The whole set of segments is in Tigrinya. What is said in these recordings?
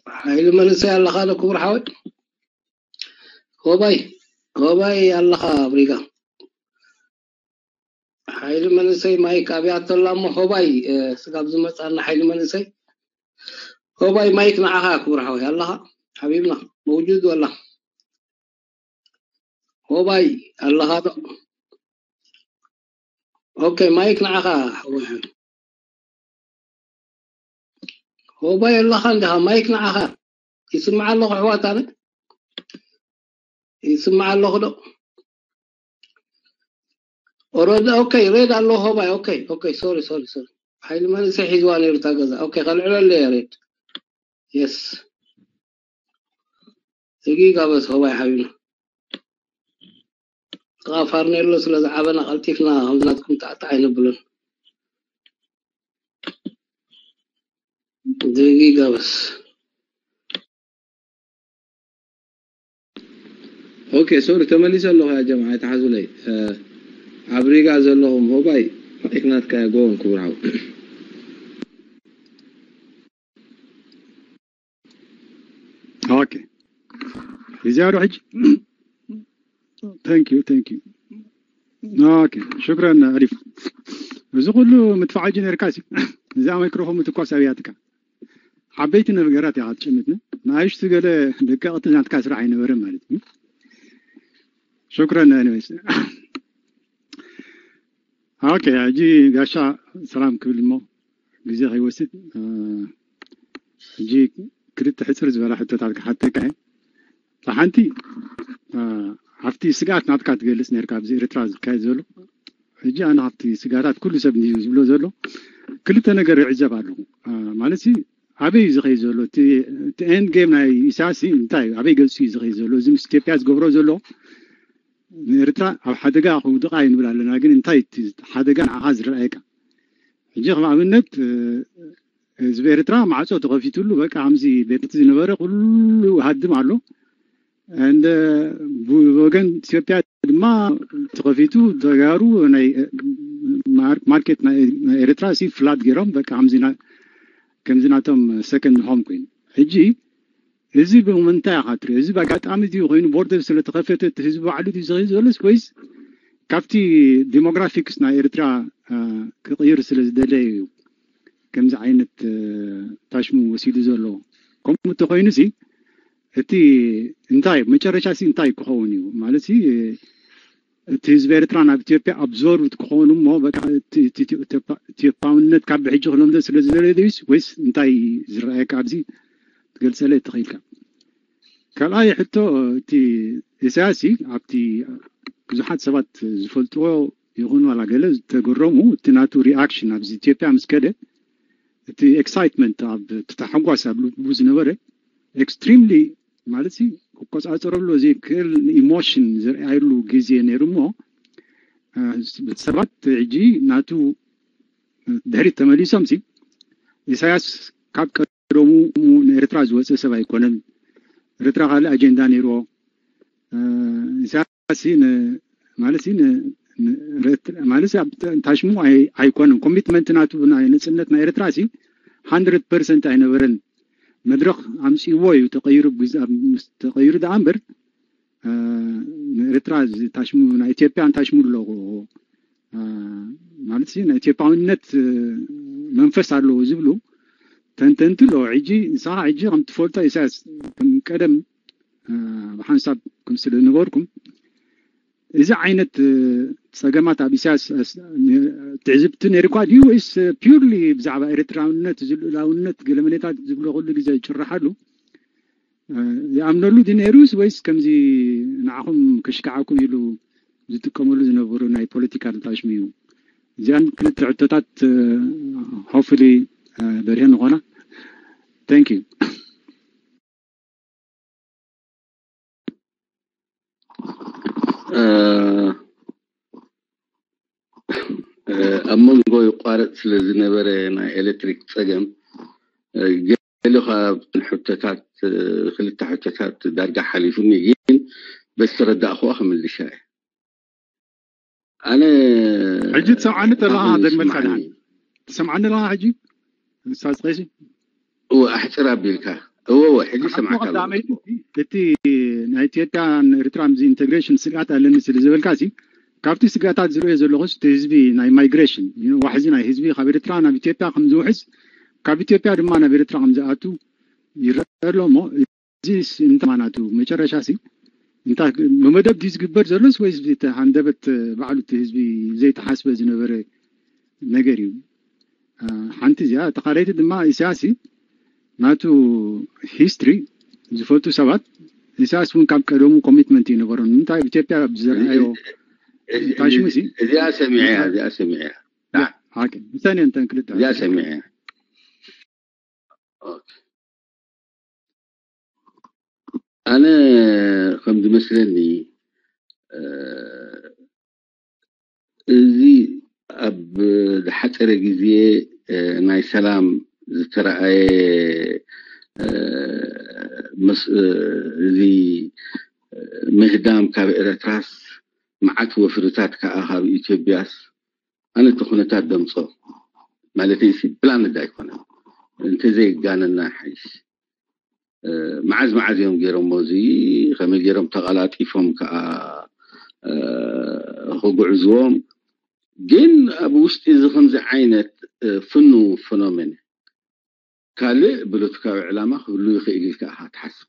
ሓይሊ መንእሰይ ኣለኻ ዶ ክቡር ሓወይ? ሆባይ፣ ሆባይ ኣለኻ ኣብ ሪጋ? ሓይሊ መንእሰይ ማይክ ኣብያቶ ኣላ እሞ፣ ሆባይ፣ እ፣ ስጋብ ዝመጻና ሓይሊ መንእሰይ። ሆባይ ማይክ ንዓኻ ክቡር ሓወይ ኣለኻ? ሓቢብና መውጁድ ወላ? ሆባይ ኣለኻ ዶ? ኦኬ፣ ማይክ ንዓኻ ሓወይ። ሆባይ ኣለኻ እንዲኻ? ማይክ ንዓኻ። ይስማዕ ኣለኹ ኣሕዋት፣ ኣነ ይስማዕ ኣለኹ ዶ? ኦረዲ፣ ኦኬ፣ ሬድ ኣሎ ሆባይ። ኦኬ፣ ኦኬ፣ ሶሪ፣ ሶሪ፣ ሶሪ። ሓይሊ መንእሰይ ሒዝዋ ነይሩ እታ ገዛ። ኦኬ፣ ከልዕለሉ እየ ሬድ። የስ። እጊ ጋበዝ ሆባይ ሓቢብና። ጥቓ ፋርኔሎ ስለ ዝዓበና ቀልጢፍና ከምዚ ናትኩም ጣዕጣዕ ኣይነብሎን። እጊ ጋበዝ። ኦኬ፣ ሶሪ፣ ተመሊሰ ኣለኹ ያ ጀምዓ፣ ኣይትሓዙለይ። እ፣ ኣብ ሪጋ ዘለኹም ሆባይ፣ ማይክ ናትካ እያ፣ ጎ ኦን ክቡር ሓው። ኦኬ፣ እዚኣ ዶ ሕጂ? Thank you, thank you. ኦኬ፣ ሽክረን ኣሊፍ። እዚ ኩሉ ምትፋዕ ጅ ነርካሲ፣ እዚኣ ማይክሮፎን ምትኳስ ኣብያትካ። ዓበይቲ ነገራት ኢኻ ትጭምትኒ። ንኣሽቱ ገለ ደቀቕቲ ናትካ ስራሕ ኣይነበረን ማለት እዩ። ሽክረን። Anyways። ኦኬ፣ ሕጂ ጋሻ ሰላም ክብል እሞ ግዜ ከይወስድ፣ እ፣ ሕጂ ክልተ ሕጽር ዝበላ ሕቶታት ክሓተካ እየ። እታ ሓንቲ፣ እ፣ ኣብቲ ስግኣት ናትካ ትገልጽ ነርካ ኣብዚ ኤርትራ ዝካየድ ዘሎ። ሕጂ ኣነ ካብቲ ስግኣታት ኩሉ ሰብ እንድዩ ዝብሎ ዘሎ ክልተ ነገር ይዕዘብ ኣለኹ። እ፣ ማለት ሲ ኣበይ እዩ ዝኸይድ ዘሎ? እቲ፣ እቲ ኤንድ ጌም ናይ ኢሳያስ ሲ እንታይ እዩ? ኣበይ ገጹ እዩ ዝኸይድ ዘሎ? እዚ ምስ ኢትዮጵያ ዝገብሮ ዘሎ ንኤርትራ ኣብ ሓደጋ ከውድቓ እዩ ንብል ኣለና፣ ግን እንታይ እቲ ሓደጋ ንዓኻ ዝረኣየካ? ሕጂ ከም ኣብነት፣ እ፣ ህዝቢ ኤርትራ ማዕጾ ተኸፊቱሉ፣ በቃ ከምዚ ቤት ዝነበረ ኩሉ ሃድም ኣሎ። እንደ ብወገን ኢትዮጵያ ድማ ተኸፊቱ፣ ተጋሩ ናይ፣ እ፣ ማር-፣ ማርኬት ናይ፣ ናይ ኤርትራ ሲ ፍላት ገይሮም፣ በቃ ከምዚ ና-፣ ከምዚ ናቶም ሰከንድ ሆም ኮይኑ። ሕጂ እዚ ብምንታይ ኢኻ ትሪኦ? እዚ ብኣጋጣሚ ድዩ ኮይኑ፣ ቦርደር ስለ ተኸፈተ እቲ ህዝቢ ባዕሉ ድዩ ዝኸይድ ዘሎስ፣ ወይስ ካብቲ ዲሞግራፊክስ ናይ ኤርትራ፣ እ፣ ክቕይር ስለ ዝደለየ እዩ ከምዚ ዓይነት፣ እ፣ ታሽሙ ወሲዱ ዘሎ? ከምኡ እንተኾይኑ ሲ እቲ እንታይ መጨረሻ ሲ እንታይ ክኸውን እዩ? ማለት ሲ እቲ ህዝቢ ኤርትራ ናብ ኢትዮጵያ ኣብዞርቭድ ክኾኑ እሞ በቃ እቲ፣ እቲ፣ እቲ ኢትዮጵያ-፣ ኢትዮጵያውነት ካብ ብሕጂ ክለምዶ ስለ ዝደለየ ድዩስ ወይስ እንታይ ዝረኣየካ ኣብዚ ትገልጸለይ ተኽኢልካ? ካልኣይ ሕቶ፣ እቲ ኢሳያስ ሲ ኣብቲ ብዙሓት ሰባት ዝፈልጥዎ ይኹን ዋላ ገለ ዝተገረሙ፣ እቲ ናቱ ሪኣክሽን ኣብዚ ኢትዮጵያ ምስ ከደ፣ እቲ ኤክሳይትመንት ኣብ፣ እቲ ታሕጓስ ኣብ ልቡ ዝነበረ ኤክስትሪምሊ ማለት ሲ ክቆጻጸረሉ ዘይክእል ኢሞሽን ዘርኣየሉ ግዜ ነይሩ እሞ፣ እ፣ ሰባት ሕጂ ናቱ ድሕሪት ተመሊሶም ሲ ኢሳያስ ካብ ቀደሙ ንኤርትራ ዝወፀ ሰብ ኣይኮነን። ኤርትራ ካልእ ኣጀንዳ ነይርዎ። እ፣ ኢሳያስ ሲ ን-፣ ማለት ሲ ን-፣ ን-፣ ረት-፣ ማለት ሲ ኣብ ተ-፣ ታሽሙ ኣይ-፣ ኣይኮነን። ኮሚትመንት ናቱ ናይ ነፅነት ናይ ኤርትራ ሲ ሃንድረድ ፐርሰንት ኣይነበረን። መድረኽ ኣምፅእዎ እዩ ተቐይሩ፣ ግዝ-፣ ኣብ-፣ ምስ ተቐይሩ ደኣ እምበር፣ እ፣ ንኤርትራ እዚ ታሽሙ፣ ናይ ኢትዮጵያ ታሽሙ ኣለዎ፣ እ፣ ማለት ሲ ናይ ኢትዮጵያውነት፣ እ፣ መንፈስ ኣለዎ ዝብሉ ተንተንቲ ኣለዎ። ሕጂ ንስኻ ሕጂ ከም ትፈልጦ ኢሳያስ ከም ቀደም፣ እ፣ ብሓንሳብ ከም ስለ ዝነበርኩም እዚ ዓይነት፣ እ፣ ጸገማት ኣብ ኢሳያስ፣ እ፣ ስ-፣ ን-፣ ትዕዝብቲ ነይርኳ ድዩ ወይስ፣ እ፣ ፒውርሊ ብዛዕባ ኤርትራውነት፣ እዚ ልኡላውነት፣ ገለመሌታት ዝብሎ ኩሉ ግዜ ዝጭርሓሉ፣ እ፣ ይኣምነሉ ድዩ ነይሩስ ወይስ ከምዚ ንዓኹም ከሽክዓኩም ኢሉ ዝጥቀመሉ ዝነበሩ ናይ ፖለቲካል ታሽሙ እዩ? እዚኣን ክልተ ሕቶታት፣ እ፣ ሆፕፉሊ፣ እ፣ በርሄን ንኾና። Thank you። እ፣ እ፣ ኣብ መንጎ ይቋረጽ ስለ ዝነበረ ናይ ኤሌክትሪክ ጸገም፣ እ፣ ገለ ካብተን ሕቶታት፣ እ፣ ክልተ ሕቶታት ዳርጋ ሓሊፉኒ፣ ግን በዝተረዳእኽዋ ክምልሻ እየ። ኣነ ሕጂ ትሰምዓኒ ኣለኻ? ኣነ ደግመልካ ይስማዓኒ። ድሓን ትሰምዓኒ ኣለኻ ሕጂ? ኡስታዝ ቀይሲ? እወ፣ ኣሕጽር ኣቢልካ። እወ እወ፣ ሕጂ ሰምዓካ ኣለኹ። ቀዳመይቲ፣ እቲ ናይ ኢትዮጵያን ኤርትራ ምስ ኢንተግሬሽን ስግኣት ኣለኒ ስለ ዝበልካ ሲ፣ ካብቲ ስግኣታት ዝርእዮ ዘለኹስ እቲ ህዝቢ ናይ ማይግሬሽን ዋሕዚ ናይ ህዝቢ ካብ ኤርትራ ናብ ኢትዮጵያ ከም ዝውሕዝ፣ ካብ ኢትዮጵያ ድማ ናብ ኤርትራ ከም ዝኣቱ ይረአ ኣሎ። እሞ እዚ እንታይ ማናቱ መጨረሻ ሲ እንታይ ብመደብ ድዩ ዝግበር ዘሎስ ወይስ እቲ ሃንደበት ባዕሉ እቲ ህዝቢ ዘይተሓስበ ዝነበረ ነገር እዩ? ሓንቲ እዚኣ። ተኻለይቲ ድማ ኢሳያስ ናቱ ሂስትሪ ዝፈልጡ ሰባት፣ ኢሳያስ እውን ካብ ቀደሙ ኮሚትመንት ይነበሮ። ንምንታይ ኣብ ኢትዮጵያ ብዝረኣዮ ታሽሙ ሲ እዚኣ ሰሚዐያ እዚኣ ሰሚዐያ ምሳኔ እንተን ክልተ እዚኣ ሰሚዐያ። ኣነ ከም ዝመስለኒ እዚ ኣብ ዝሓፀረ ግዜ ናይ ሰላም ዝተረኣየ እዚ ምህዳም ካብ ኤረትራስ መዓት ወፍርታት ከዓ ካብ ኢትዮጵያስ ኣነ እቲ ኩነታት ደምፆ ማለት ሲ ፕላንድ ኣይኮነን እንተዘይጋነና ሓይሽ መዓዝ መዓዝ እዮም ገይሮሞ እዚ ከመይ ገይሮም ተቐላጢፎም ከዓ ክጉዕዝዎም ግን ኣብ ውሽጢ እዚ ከምዚ ዓይነት ፍኑ ፎኖሜን ካልእ ብሎትካዊ ዕላማ ክህሉ ይኽእል ኢልካ ኢኻ ትሓስብ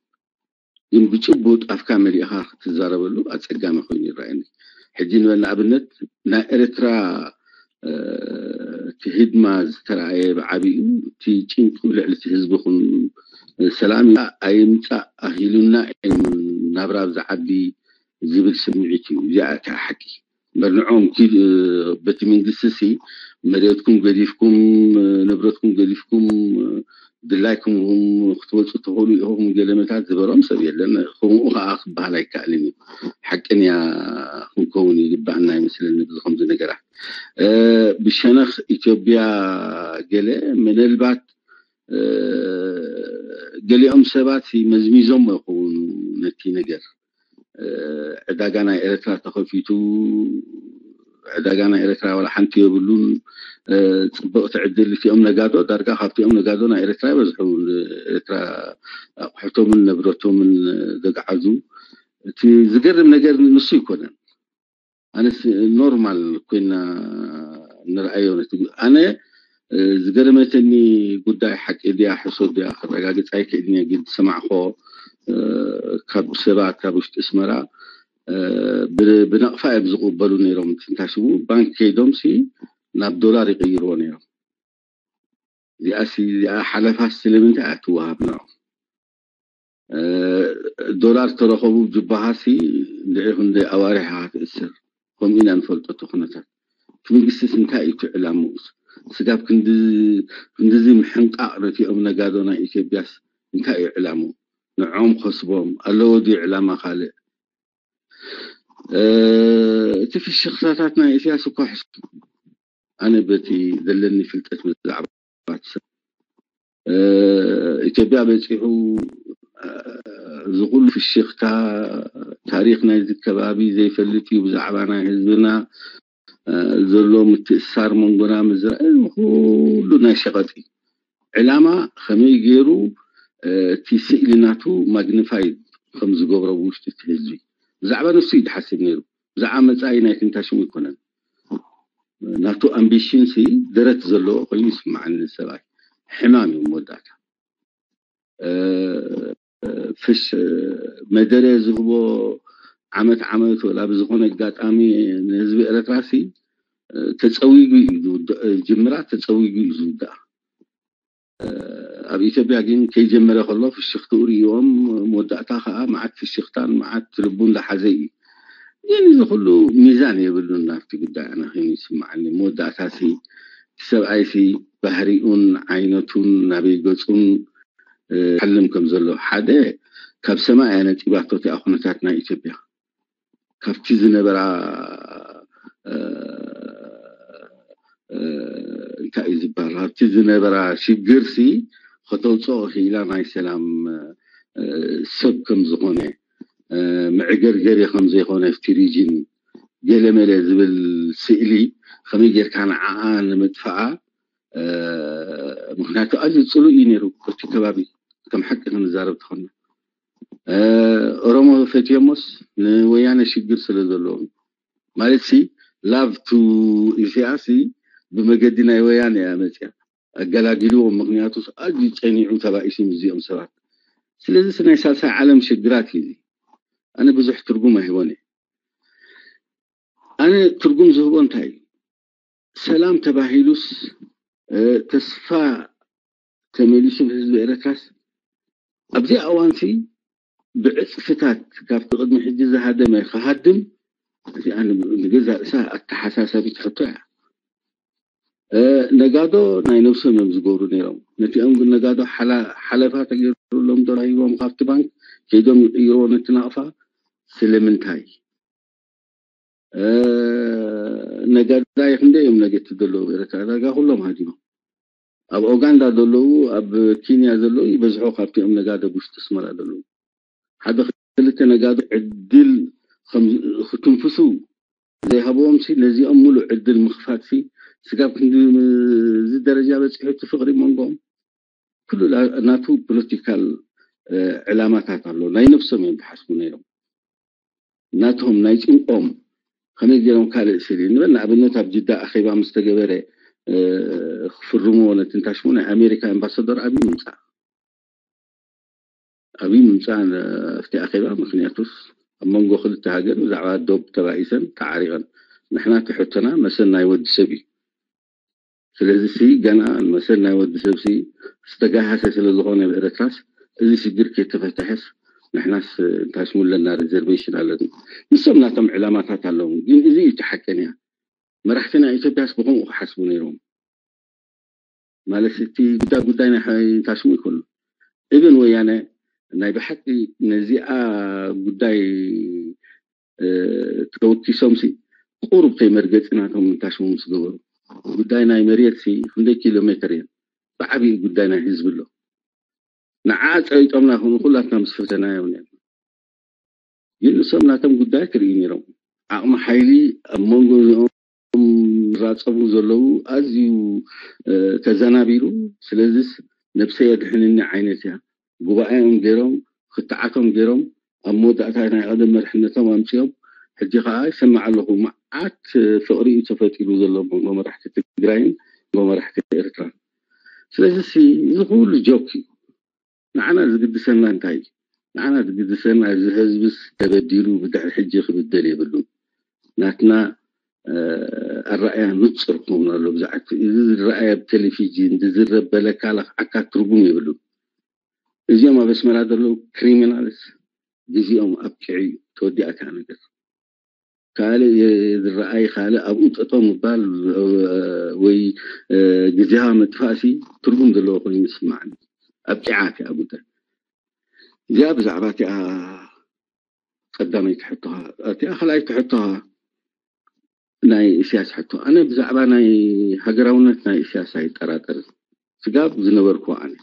ግን ብጭቡጥ ኣፍካ መሊእኻ ክትዛረበሉ ኣፀጋሚ ኮይኑ ይረኣየኒ ሕጂ ንበል ንኣብነት ናይ ኤርትራ እቲ ህድማ ዝተረኣየ ብዓብኡ እቲ ጭንቂ ልዕሊ እቲ ህዝቢ ኹን ሰላም ኣይምፃእ ኣሂሉና እዩ ናብራ ኣብዚ ዓዲ ዝብል ስምዒት እዩ እዚኣ እታ ሓቂ እምበር ንዖም በቲ መንግስቲ ሲ መሬትኩም ገዲፍኩም ንብረትኩም ገዲፍኩም ድላይኩም ክትወፁ ትኽእሉ ኢኹም ገለመታት ዝበሎም ሰብ የለን ከምኡ ከዓ ክበሃል ኣይከኣልን እዩ ሓቅን እያ ክንከውን ይግባኣና ይመስለኒ ብዚ ከምዚ ነገራት ብሸነኽ ኢትዮጵያ ገለ ምናልባት ገሊኦም ሰባት መዝሚዞም ይኸውን ነቲ ነገር ዕዳጋ ናይ ኤርትራ ተኸፊቱ ዕዳጋ ናይ ኤርትራ ዋላ ሓንቲ የብሉን ፅብቕቲ ዕድል እቲኦም ነጋዶ ዳርጋ ካብቲኦም ነጋዶ ናይ ኤርትራ ይበዝሑ ኤርትራ ኣቑሕቶምን ንብረቶምን ዘግዓዙ እቲ ዝገርም ነገር ንሱ ይኮነን ኣነስ ኖርማል ኮይና ንርኣዮ ነቲ ኣነ ዝገረመተኒ ጉዳይ ሓቂ ድያ ሕሶት ድያ ክረጋግፅ ኣይክእልን እየ ግን ዝሰማዕኮ ካብ ሰባት ካብ ውሽጢ ኣስመራ ብነቕፋ እዮም ዝቕበሉ ነይሮም ትንታሽሙ ባንክ ከይዶም ሲ ናብ ዶላር ይቕይርዎ ነይሮም እዚኣ ሲ እዚኣ ሓለፋ ስለምንታይ ኣትወሃብ ንዖም ዶላር ተረኸቡ ጅባሃሲ እንድዒ ክንደይ ኣዋርሕ ኢኻ ትእስር ከምኡ ኢና ንፈልጦ እቲ ኩነታት እቲ መንግስቲስ እንታይ እዩ እቲ ዕላምኡስ ስጋብ ክንድዚ ምሕንቃቕ ነቲኦም ነጋዶ ናይ ኢትዮጵያስ እንታይ እዩ ዕላምኡ ንዖም ከስቦም ኣለዎ ድዩ ዕላማ ካልእ እቲ ፍሽኽታታት ናይ ኢሳያስ እኳ ሕሱ ኣነ በቲ ዘለኒ ፍልጠት ብዛዕባ ኢትዮጵያ በፂሑ እዚ ኩሉ ፍሽኽታ ታሪክ ናይዚ ከባቢ ዘይፈልጥ እዩ ብዛዕባ ናይ ህዝብና ዘሎ ምትእሳር መንጎና ምዝራእ ኩሉ ናይ ሸቐጥ እዩ ዕላማ ከመይ ገይሩ እቲ ስእሊ ናቱ ማግኒፋይ ከም ዝገብሮ ብውሽጢ እቲ ህዝቢ ብዛዕባ ንሱ እዩ ዝሓስብ ነይሩ ብዛዕባ መፃኢ ናይ ክንታሽሙ ኣይኮነን ናቱ ኣምቢሽን ሲ ደረት ዘለዎ ኮይኑ ይስማዓኒ ሰብኣይ ሕማም እዩ መወዳእታ ፍሽ መደረ ዝህቦ ዓመት ዓመት ወላ ብዝኾነ ኣጋጣሚ ንህዝቢ ኤረትራ ሲ ተፀዊጉ እዩ ጅምራ ተፀዊጉ እዩ ዝውዳእ ኣብ ኢትዮጵያ ግን ከይጀመረ ከሎ ፍሽኽትኡ ሪእዎም መወዳእታ ከዓ መዓት ፍሽኽታን መዓት ልቡን ዝሓዘ እዩ ግን እዚ ኩሉ ሚዛን የብሉን ናብቲ ጉዳይ ኣነ ኮይኑ ይስማዓኒ መወዳእታ ሲ ሰብኣይ ሲ ባህሪኡን ዓይነቱን ናበይ ገፁን ሓልም ከም ዘሎ ሓደ ካብ ሰማይ ኣነጢባቶ እቲኣ ኩነታት ናይ ኢትዮጵያ ካብቲ ዝነበራ እንታይ እዩ ዝበሃል ካብቲ ዝነበራ ሽግርሲ ከተውፅኦ ክኢላ ናይ ሰላም ሰብ ከም ዝኾነ መዕገርገሪ ከም ዘይኮነ ኣብቲ ሪጅን ገለመለ ዝብል ስእሊ ከመይ ጌርካ ንዓኣ ንምጥፋኣ ምክንያቱ ኣዝዩ ፅሉእ እዩ ነይሩ እቲ ከባቢ ከም ሓቂ ክንዛረብ ተኾና ኦሮሞ ፈትዮሞስ ንወያነ ሽግር ስለ ዘለዎም ማለት ሲ love to ኢሳያስ ብመገዲ ናይ ወያነ እያ መፅያ ኣገላጊልዎም። ምክንያቱ ኣዝዩ ፀኒዑ ተባኢሱ ምስዚኦም ሰባት። ስለዚ ናይ ሳልሳይ ዓለም ሽግራት እዩ። ኣነ ብዙሕ ትርጉም ኣይህቦን እየ። ኣነ ትርጉም ዝህቦ እንታይ እዩ? ሰላም ተባሂሉስ ተስፋ ተመሊሱ ብህዝቢ ኤረትራስ ኣብዚ ኣዋንሲ ብዕፅፍታት ካብቲ ቅድሚ ሕጂ ዝሃደመ ክሃድም እዚኣ ንገዛ ርእሳ ኣተሓሳሰቢት ሕቶ እያ። ነጋዶ ናይ ነብሶም እዮም ዝገብሩ ነይሮም። ነቲኦም ግን ነጋዶ ሓለፋ ተገይሩሎም ዶላር ሂቦም ካብቲ ባንክ ከይዶም ይቅይርዎ ነቲ ናቕፋ። ስለምንታይ? ነጋዳይ ክንደይ እዮም ነገቲ ዘለዉ ኤረትራ ዳርጋ ኩሎም ሃዲሞም። ኣብ ኦጋንዳ ዘለዉ ኣብ ኪንያ ዘለዉ ይበዝሖ ካብቲኦም ነጋዶ ውሽጢ ኣስመራ ዘለዉ። ሓደ ክልተ ነጋዶ ዕድል ክትንፍሱ ዘይሃብዎም ሲ ነዚኦም ሙሉእ ዕድል ምኽፋት ሲ ስጋብ ክንዲ እዚ ደረጃ በፂሑ እቲ ፍቅሪ መንጎም ኩሉ ናቱ ፖለቲካል ዕላማታት ኣሎ። ናይ ነብሶም እዮም ዝሓስቡ ነይሮም። ናቶም ናይ ጭንቆም ከመይ ገይሮም ካልእ ስሊ ንበል ንኣብነት ኣብ ጅዳ ኣኼባ ምስ ተገበረ ክፍርምዎ ነቲ ንታሽሙ ናይ ኣሜሪካ ኣምባሳደር ኣብይ ምምፃእ ኣብይ ምምፃእ ኣብቲ ኣኼባ ምክንያቱስ ኣብ መንጎ ክልተ ሃገር ብዛዕባ ዶብ ተባኢሰን ተዓሪቐን ንሕና ትሕቶና መሰል ናይ ወዲ ሰብ እዩ። ስለዚ ሲ ገና መሰል ናይ ወዲ ሰብ ሲ ዝተጋሃሰ ስለ ዝኾነ ብኤረትራስ እዚ ሽግር ከይተፈተሐስ ንሕናስ እንታይ ሽሙ ኣለና ሪዘርቬሽን ኣለና። ንሶም ናቶም ዕላማታት ኣለዎም ግን እዚ እዩ እቲ ሓቀንያ። መራሕቲ ናይ ኢትዮጵያስ ብኸምኡ ክሓስቡ ነይሮም። ማለት እቲ ጉዳይ ጉዳይ ናይ እንታይ ሽሙ ይኮኑ እብን ወያነ ናይ ብሓቂ ነዚኣ ጉዳይ ተወኪሶም ሲ ቁሩብ ከይመርገፂ ናቶም እንታይ ሽሙ ምስ ገበሩ ጉዳይ ናይ መሬት ሲ ክንደይ ኪሎ ሜትር እየን ብዓብዩ ጉዳይ ናይ ህዝቢ ኣሎ። ንዓ ፀይጦምና ይኮኑ ኩላትና ምስ ፈተናዮም ነርና። ግን ንሶም ናቶም ጉዳይ ክርእዩ ነይሮም። ዓቕሚ ሓይሊ ኣብ መንጎ እዚኦም ዝራፀሙ ዘለዉ ኣዝዩ ተዘናቢሉ። ስለዚስ ነብሰይ ኣድሕንኒ ዓይነት እያ። ጉባኤኦም ገይሮም ክትዓቶም ገይሮም ኣብ መወዳእታ ናይ ቀደም መርሕነቶም ኣምፅኦም ሕጂ ከዓ ይሰምዕ ኣለኹ መዓት ፍቅሪ እዩ ተፈጢሩ ዘሎ መንጎ መራሕቲ ትግራይን መንጎ መራሕቲ ኤርትራን። ስለዚ እዚ ኩሉ ጆክ እዩ። ንዓና ዝግድሰና እንታይ እዩ? ንዓና ዝግድሰና እዚ ህዝብስ ተበዲሉ ብድሕሪ ሕጂ ክብደል የብሉን። ናትና ኣረኣያ ንፁር ክኸውን ኣሎ። ብዛዕባ እዚ ዝረኣየ ኣብ ቴሌቪዥን ዝዝረብ በለካ ለኽዓካ ትርጉም የብሉን። እዚኦም ኣብ ኣስመራ ዘለዉ ክሪሚናልስ ግዜኦም ኣብቂዑ እዩ። ተወዲኣታ ነገር ካልእ ዝረኣይ ካልእ ኣብኡ ጠጠው ምባል ወይ ግዜኻ ምጥፋእሲ ትርጉም ዘለዎ ኮይኑ ይስማዓኒ። ኣብቂዓ እቲኣ ጉዳይ እዚኣ ብዛዕባ እቲኣ ቀዳመይቲ ሕቶኻ እቲኣ ካልኣይቲ ሕቶኻ ናይ እስያስ ሕቶ ኣነ ብዛዕባ ናይ ሃገራውነት ናይ እስያስ ኣይጠራጠርን። ስጋብ ዝነበርኩ ኣነ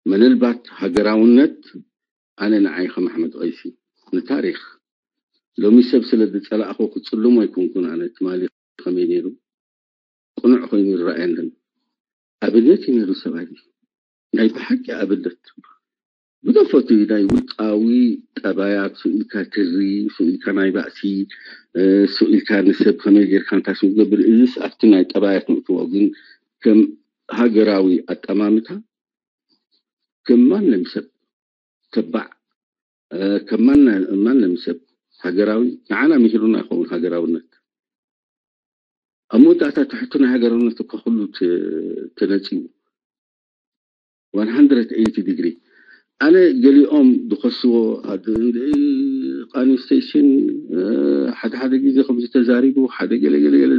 ምንልባት ሃገራውነት ኣነ ንዓይ ከም ኣሕመድ ቀይሲ ንታሪኽ ሎሚ ሰብ ስለ ዝጸላእኹ ክጽልሞ ኣይኮንኩን። ኣነ ትማሊ ከመይ ነይሩ ቅኑዕ ኮይኑ ይረኣየንን ኣብነት እዩ ነይሩ ሰብኣይ ናይ ብሓቂ ኣብነት ብደፈቱ ናይ ውልቃዊ ጠባያት ስኢልካ ትሪ ስኢልካ ናይ ባእሲ ስኢልካ ንሰብ ከመይ ጌርካ ንታሽም ዝገብር እዚስ ኣብቲ ናይ ጠባያት ንእትዎ ግን ከም ሃገራዊ ኣጠማምታ ከም ማንም ሰብ ተባዕ ከም ማንም ሰብ ሃገራዊ ንዓና ምሂሩና ይኸውን ሃገራውነት ኣብ መወዳእታ ትሕቱ ናይ ሃገራውነት እኳ ኩሉ ተነፂቡ one hundred eighty degree ኣነ ገሊኦም ዝኸስዎ ቃንስቴሽን ሓደ ሓደ ግዜ ከምዚ ተዛሪቡ ሓደ ገለ ገለ ገለ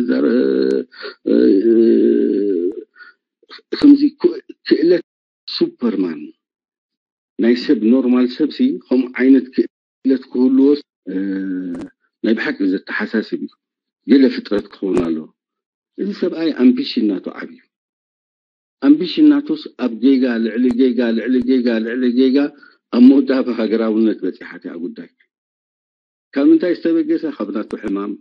ከምዚ ክእለት ሱፐርማን ናይ ሰብ ኖርማል ሰብ ሲ ከምኡ ዓይነት ክእለት ክህልዎስ ናይ ብሓቂ ዘተሓሳስብ እዩ። ገለ ፍጥረት ክኸውን ኣለዎ። እዚ ሰብኣይ ኣምቢሽን ናቱ ዓብዩ ኣምቢሽን ናቱስ ኣብ ጌጋ ልዕሊ ጌጋ ልዕሊ ጌጋ ልዕሊ ጌጋ ኣብ መወዳእታ ሃገራውነት በፂሓት እያ ጉዳይ። ካብ ምንታይ ዝተበገሰ ካብ ናቱ ሕማም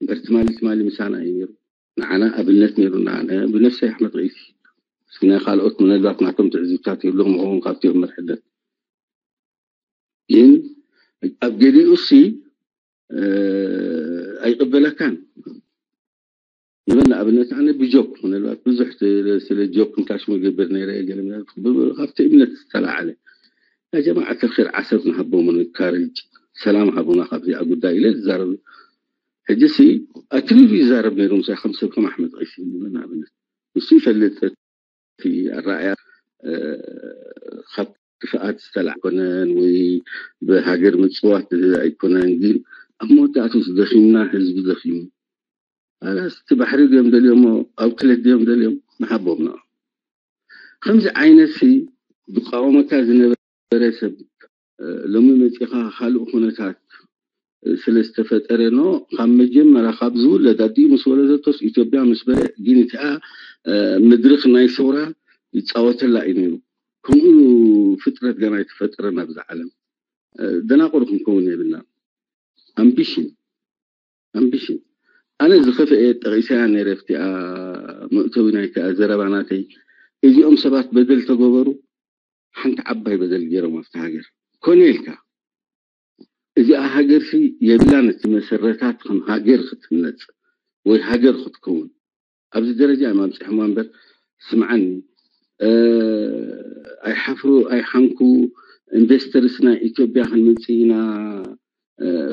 እምበር ትማሊ ትማሊ ምሳና እዩ ነይሩ። ንዓና ኣብነት ነይሩና። ኣነ ብነፍሰይ ኣሕመድ ቀይሲ ናይ ካልኦት ምናልባት ናቶም ትዕዝብታት ይህልዎም ይኸውን ካብቲ እዮም መርሕነት። ግን ኣብ ገሊኡ ሲ ኣይቅበለካን። ንበል ንኣብነት ኣነ ብጆክ ምናልባት ብዙሕ ስለ ጆክ እንታሽሙ ገብር ነይረ ገለ ካብቲ እምነት ዝተላዓለ ያ ጀማዓት ር ዓሰብ ንሃቦም ንካርጅ ሰላም ሃቡና ካብዚኣ ጉዳይ ኢለ ዝዛረብ። ሕጂ ሲ ኣክሊሉ ይዛረብ ነይሩ ምሳይ ከም ሰብ ከም ኣሕመድ ቀይሲ ንበል ንኣብነት ንሱ ይፈልጥ እቲ ኣረኣያ ካብ ክፍኣት ዝተላዕ ኣይኮነን ወይ ብሃገር ምፅዋት ኣይኮነን። ግን ኣብ መወዳእቱ ደኺምና ህዝቢ ደኺሙ ኣላስ እቲ ባሕሪ ድዮም ደልዮሞ ኣውትለት ድዮም ደልዮም ንሃቦም ን ከምዚ ዓይነት ሲ ዝቃወመካ ዝነበረ ሰብ ሎሚ መፂኻ ካልእ ኩነታት ስለ ዝተፈጠረ ኖ ካብ መጀመርያ ካብ ዝውለድ ኣዲኡ ምስ ወለደቶስ ኢትዮጵያ ምስ በለ ግን እቲኣ ምድርኽ ናይ ሰውራ ይፃወተላ እዩ ነይሩ። ከምኡ ፍጥረት ገና ኣይተፈጠረን ኣብዚ ዓለም። ደናቁር ክንከውን የብልና። ኣምቢሽን ኣምቢሽን ኣነ ዝኸፍአ ጠቂሰያ ነይረ ኣብቲኣ መእተዊ ናይቲኣ ዘረባ ናተይ። እዚኦም ሰባት በደል ተገበሩ ሓንቲ ዓባይ በደል ገይሮም ኣብቲ ሃገር ኮነ ኢልካ እዚኣ ሃገር ሲ የብላን እቲ መሰረታት ከም ሃገር ክትህነፅ ወይ ሃገር ክትከውን ኣብዚ ደረጃ እዮም ኣብፅሕማ እምበር ስምዓኒ ኣይሓፍሩ ኣይሓንኩ ኢንቨስተርስ ናይ ኢትዮጵያ ክንምፅእ ኢና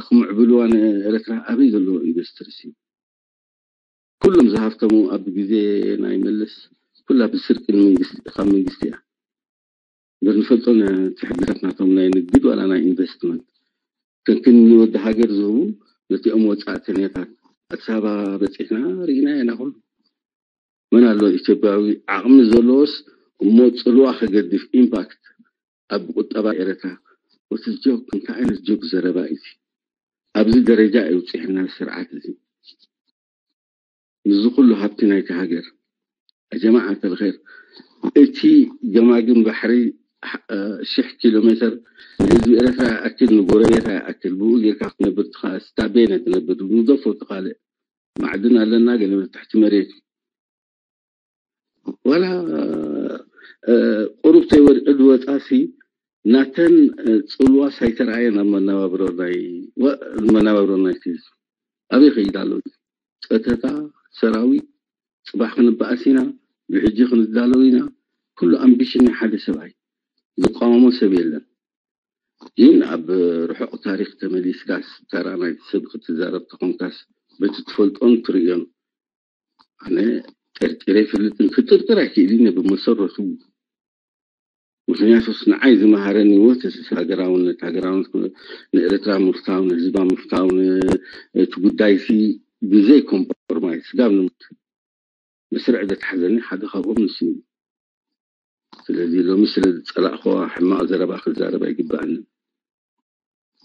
ክምዕብልዋ ንኤረትራ ኣበይ ዘለዎ ኢንቨስተርስ እዩ ኩሎም ዝሃፍተሙ ኣብ ግዜ ናይ መለስ ኩላ ብስርቂ ካብ መንግስቲ እያ እምበር ንፈልጦ ሕግታት ናቶም ናይ ንግድ ዋላ ናይ ኢንቨስትመንት ከክኒ ወዲ ሃገር ዝህቡ ነቲኦም ወፃእተኛታት ኣዲስ ኣበባ በፂሕና ርኢና ኢና ኩሉ መን ኣሎ ኢትዮጵያዊ ዓቕሚ ዘለዎስ እሞ ፅልዋ ከገድፍ ኢምፓክት ኣብ ቁጠባ ኤረትራ ወትስ ጆክ እንታይ ዓይነት ጆክ ዘረባ እዩ ኣብዚ ደረጃ የውፅሕና ስርዓት እዚ ምስዚ ኩሉ ሃብቲ ናይቲ ሃገር ጀማዓት ኣልኸይር እቲ ገማግም ባሕሪ ሽሕ ኪሎ ሜትር ንህዝቢ ኤረትራ ይኣክል ንጎረቤታ ይኣክል ብኡ ጌርካ ክትነብር ትኽእል ስታ ቤነ ትነብር ንደፎ ትኻልእ ማዕድን ኣለና ገለ ትሕቲ መሬት ዋላ ቁሩብ ተይወድቂ ዝወፃ ሲ ናተን ፅልዋ ሳይተረኣየን ኣብ መናባብሮ ናይ መናባብሮ ናይቲ ህዝቢ ኣበይ ከይድ ኣሎ ጸተታ ሰራዊት ጽባሕ ክንበኣስ ኢና ብሕጂ ክንዳለው ኢና ኩሉ ኣምቢሽን ናይ ሓደ ሰብኣይ ዝቃወሞ ሰብ የለን ግን ኣብ ርሑቕ ታሪክ ተመሊስካስ ተራ ናይቲ ሰብ ክትዛረብ ተኾንካስ በቲ ትፈልጦን ትርእዮን ኣነ ጠርጢረ ይፈልጥን ክጥርጥር ኣይክእልን እየ ብመሰረቱ ምክንያቱስ ንዓይ ዝመሃረኒ ወትስ ሃገራውነት ሃገራውነት ንኤርትራ ምፍታው ንህዝባ ምፍታው እቲ ጉዳይ ሲ ብዘይ ኮምፕሮማይዝ ስጋብ ንምት መስርዕ ዘትሓዘኒ ሓደ ካብኦም ንሱ እዩ ስለዚ ሎሚ ስለ ዝፀላእክዋ ሕማቕ ዘረባ ክዛረብ ኣይግበኣንን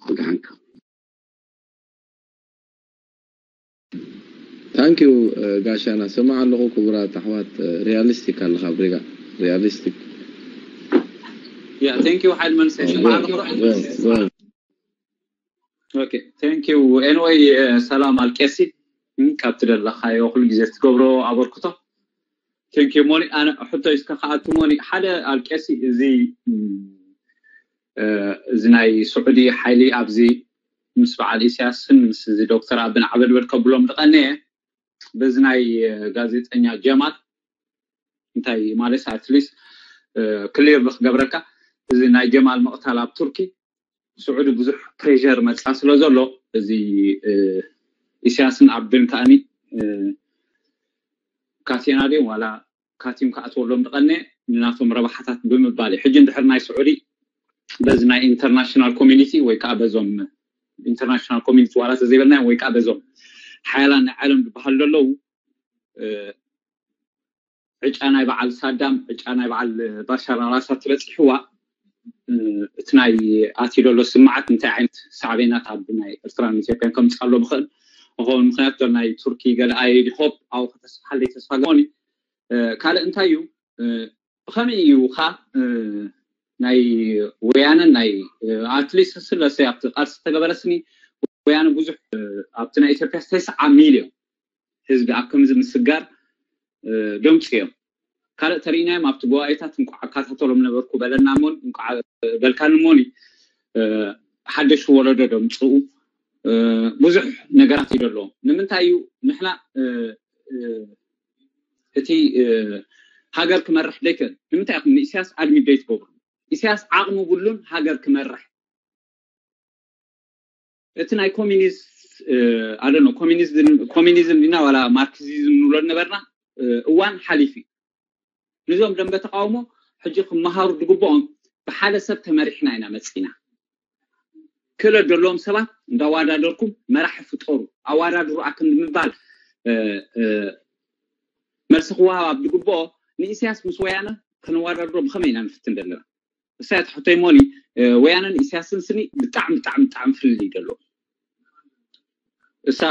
ብድሓንካ ታንኪዩ ጋሻና ስማዕ ኣለኹ ክቡራት ኣሕዋት ሪያሊስቲክ ኣለኻ ብሪጋ ሪያሊስቲክ Yeah, thank you ሓይል መንሰ ስማዕ ኣለኹ Okay, thank you. Anyway, ሰላም ኣልቄሲ ካብ ትደለኻዮ ኩሉ ግዜ ትገብሮ ኣበርክቶ። Thank you ሞኒ። ኣነ ሕቶ እስከ ከኣቱ ሞኒ ሓደ ኣልቄሲ እዚ እዚ ናይ ስዑዲ ሓይሊ ኣብዚ ምስ በዓል ኢሳያስን ምስ እዚ ዶክተር ኣብን ዓበድበድ ከብሎም ዝቐነየ በዚ ናይ ጋዜጠኛ ጀማል እንታይ ማለት ኣትሊስት ክሊር ክገብረልካ እዚ ናይ ጀማል ምቕታል ኣብ ቱርኪ ስዑዲ ብዙሕ ፕሬር መፃ ስለ ዘሎ እዚ ኢሳያስን ኣብን ከኣኒ ካቴና ድዮም ዋላ ካቲም ክኣትወሎም ዝቐነ ንናቶም ረብሓታት ብምባል እዩ ሕጂ እንድሕር ናይ ስዑዲ በዚ ናይ ኢንተርናሽናል ኮሚኒቲ ወይ ከዓ በዞም ኢንተርናሽናል ኮሚኒቲ ዋላ ተዘይበልናዮም ወይ ከዓ በዞም ሓያላን ናይ ዓለም ዝበሃሉ ዘለዉ ዕጫ ናይ በዓል ሳዳም ዕጫ ናይ በዓል ባሻር ኣላሳድ ተበፂሕዋ እቲ ናይ ኣትዩ ዘሎ ስምዓት እንታይ ዓይነት ሳዕቤናት ኣብ ናይ ኤርትራን ኢትዮጵያን ከምፅእ ኣሎ ብኽእል ንኸውን ምክንያት ዶ ናይ ቱርኪ ገለ ኣየዲ ሆፕ ኣብ ከተስፋሓለይ ተስፋ ገኒ ካልእ እንታይ እዩ ብኸመይ እዩ ካ ናይ ወያነ ናይ ኣትሊስት ስለሰ ኣብቲ ቃልሲ ተገበረስኒ ወያነ ብዙሕ ኣብቲ ናይ ኢትዮጵያ ተስዓ ሚልዮን ህዝቢ ኣብ ከምዚ ምስጋር ደምፅዮም ካልእ ተርእናዮም ኣብቲ ጉባኤታት እንቋዕ ኣካታተሎም ነበርኩ በለና ሞኒ፣ እንቋዕ በልካኒ ሞኒ። ሓደሽ ወለዶ ደምፅኡ ብዙሕ ነገራት እዩ ደለዎ። ንምንታይ እዩ ንሕና እቲ ሃገር ክመርሕ ደይክእል? ንምንታይ ኢኹም ንኢሳያስ ኣድሚት ደይትገብሩ? ኢሳያስ ዓቕሚ ብሉን ሃገር ክመርሕ። እቲ ናይ ኮሚኒስት ኣደኖ ኮሚኒዝም ዲና ዋላ ማርክሲዝም ንብሎ ነበርና እዋን ሓሊፉ እዩ። ንዞም ደንበ ተቃውሞ ሕጂ ክመሃሩ ዝግብኦም ብሓደ ሰብ ተመሪሕና ኢና መፂና። ክእለት ዘለዎም ሰባት እንዳዋዳደርኩም መራሒ ፍጠሩ፣ ኣዋዳድሩ ኣክንዲ ምባል መልሲ ክወሃብ ኣብ ዝግብኦ ንኢሳያስ ምስ ወያነ ከነዋዳድሮ ብኸመይ ኢና ንፍትን ዘለና? እሳይ ትሕቶይ ሞኒ ወያነን ኢሳያስን ስኒ ብጣዕሚ ብጣዕሚ ብጣዕሚ ፍልልይ ደሎ። እሳ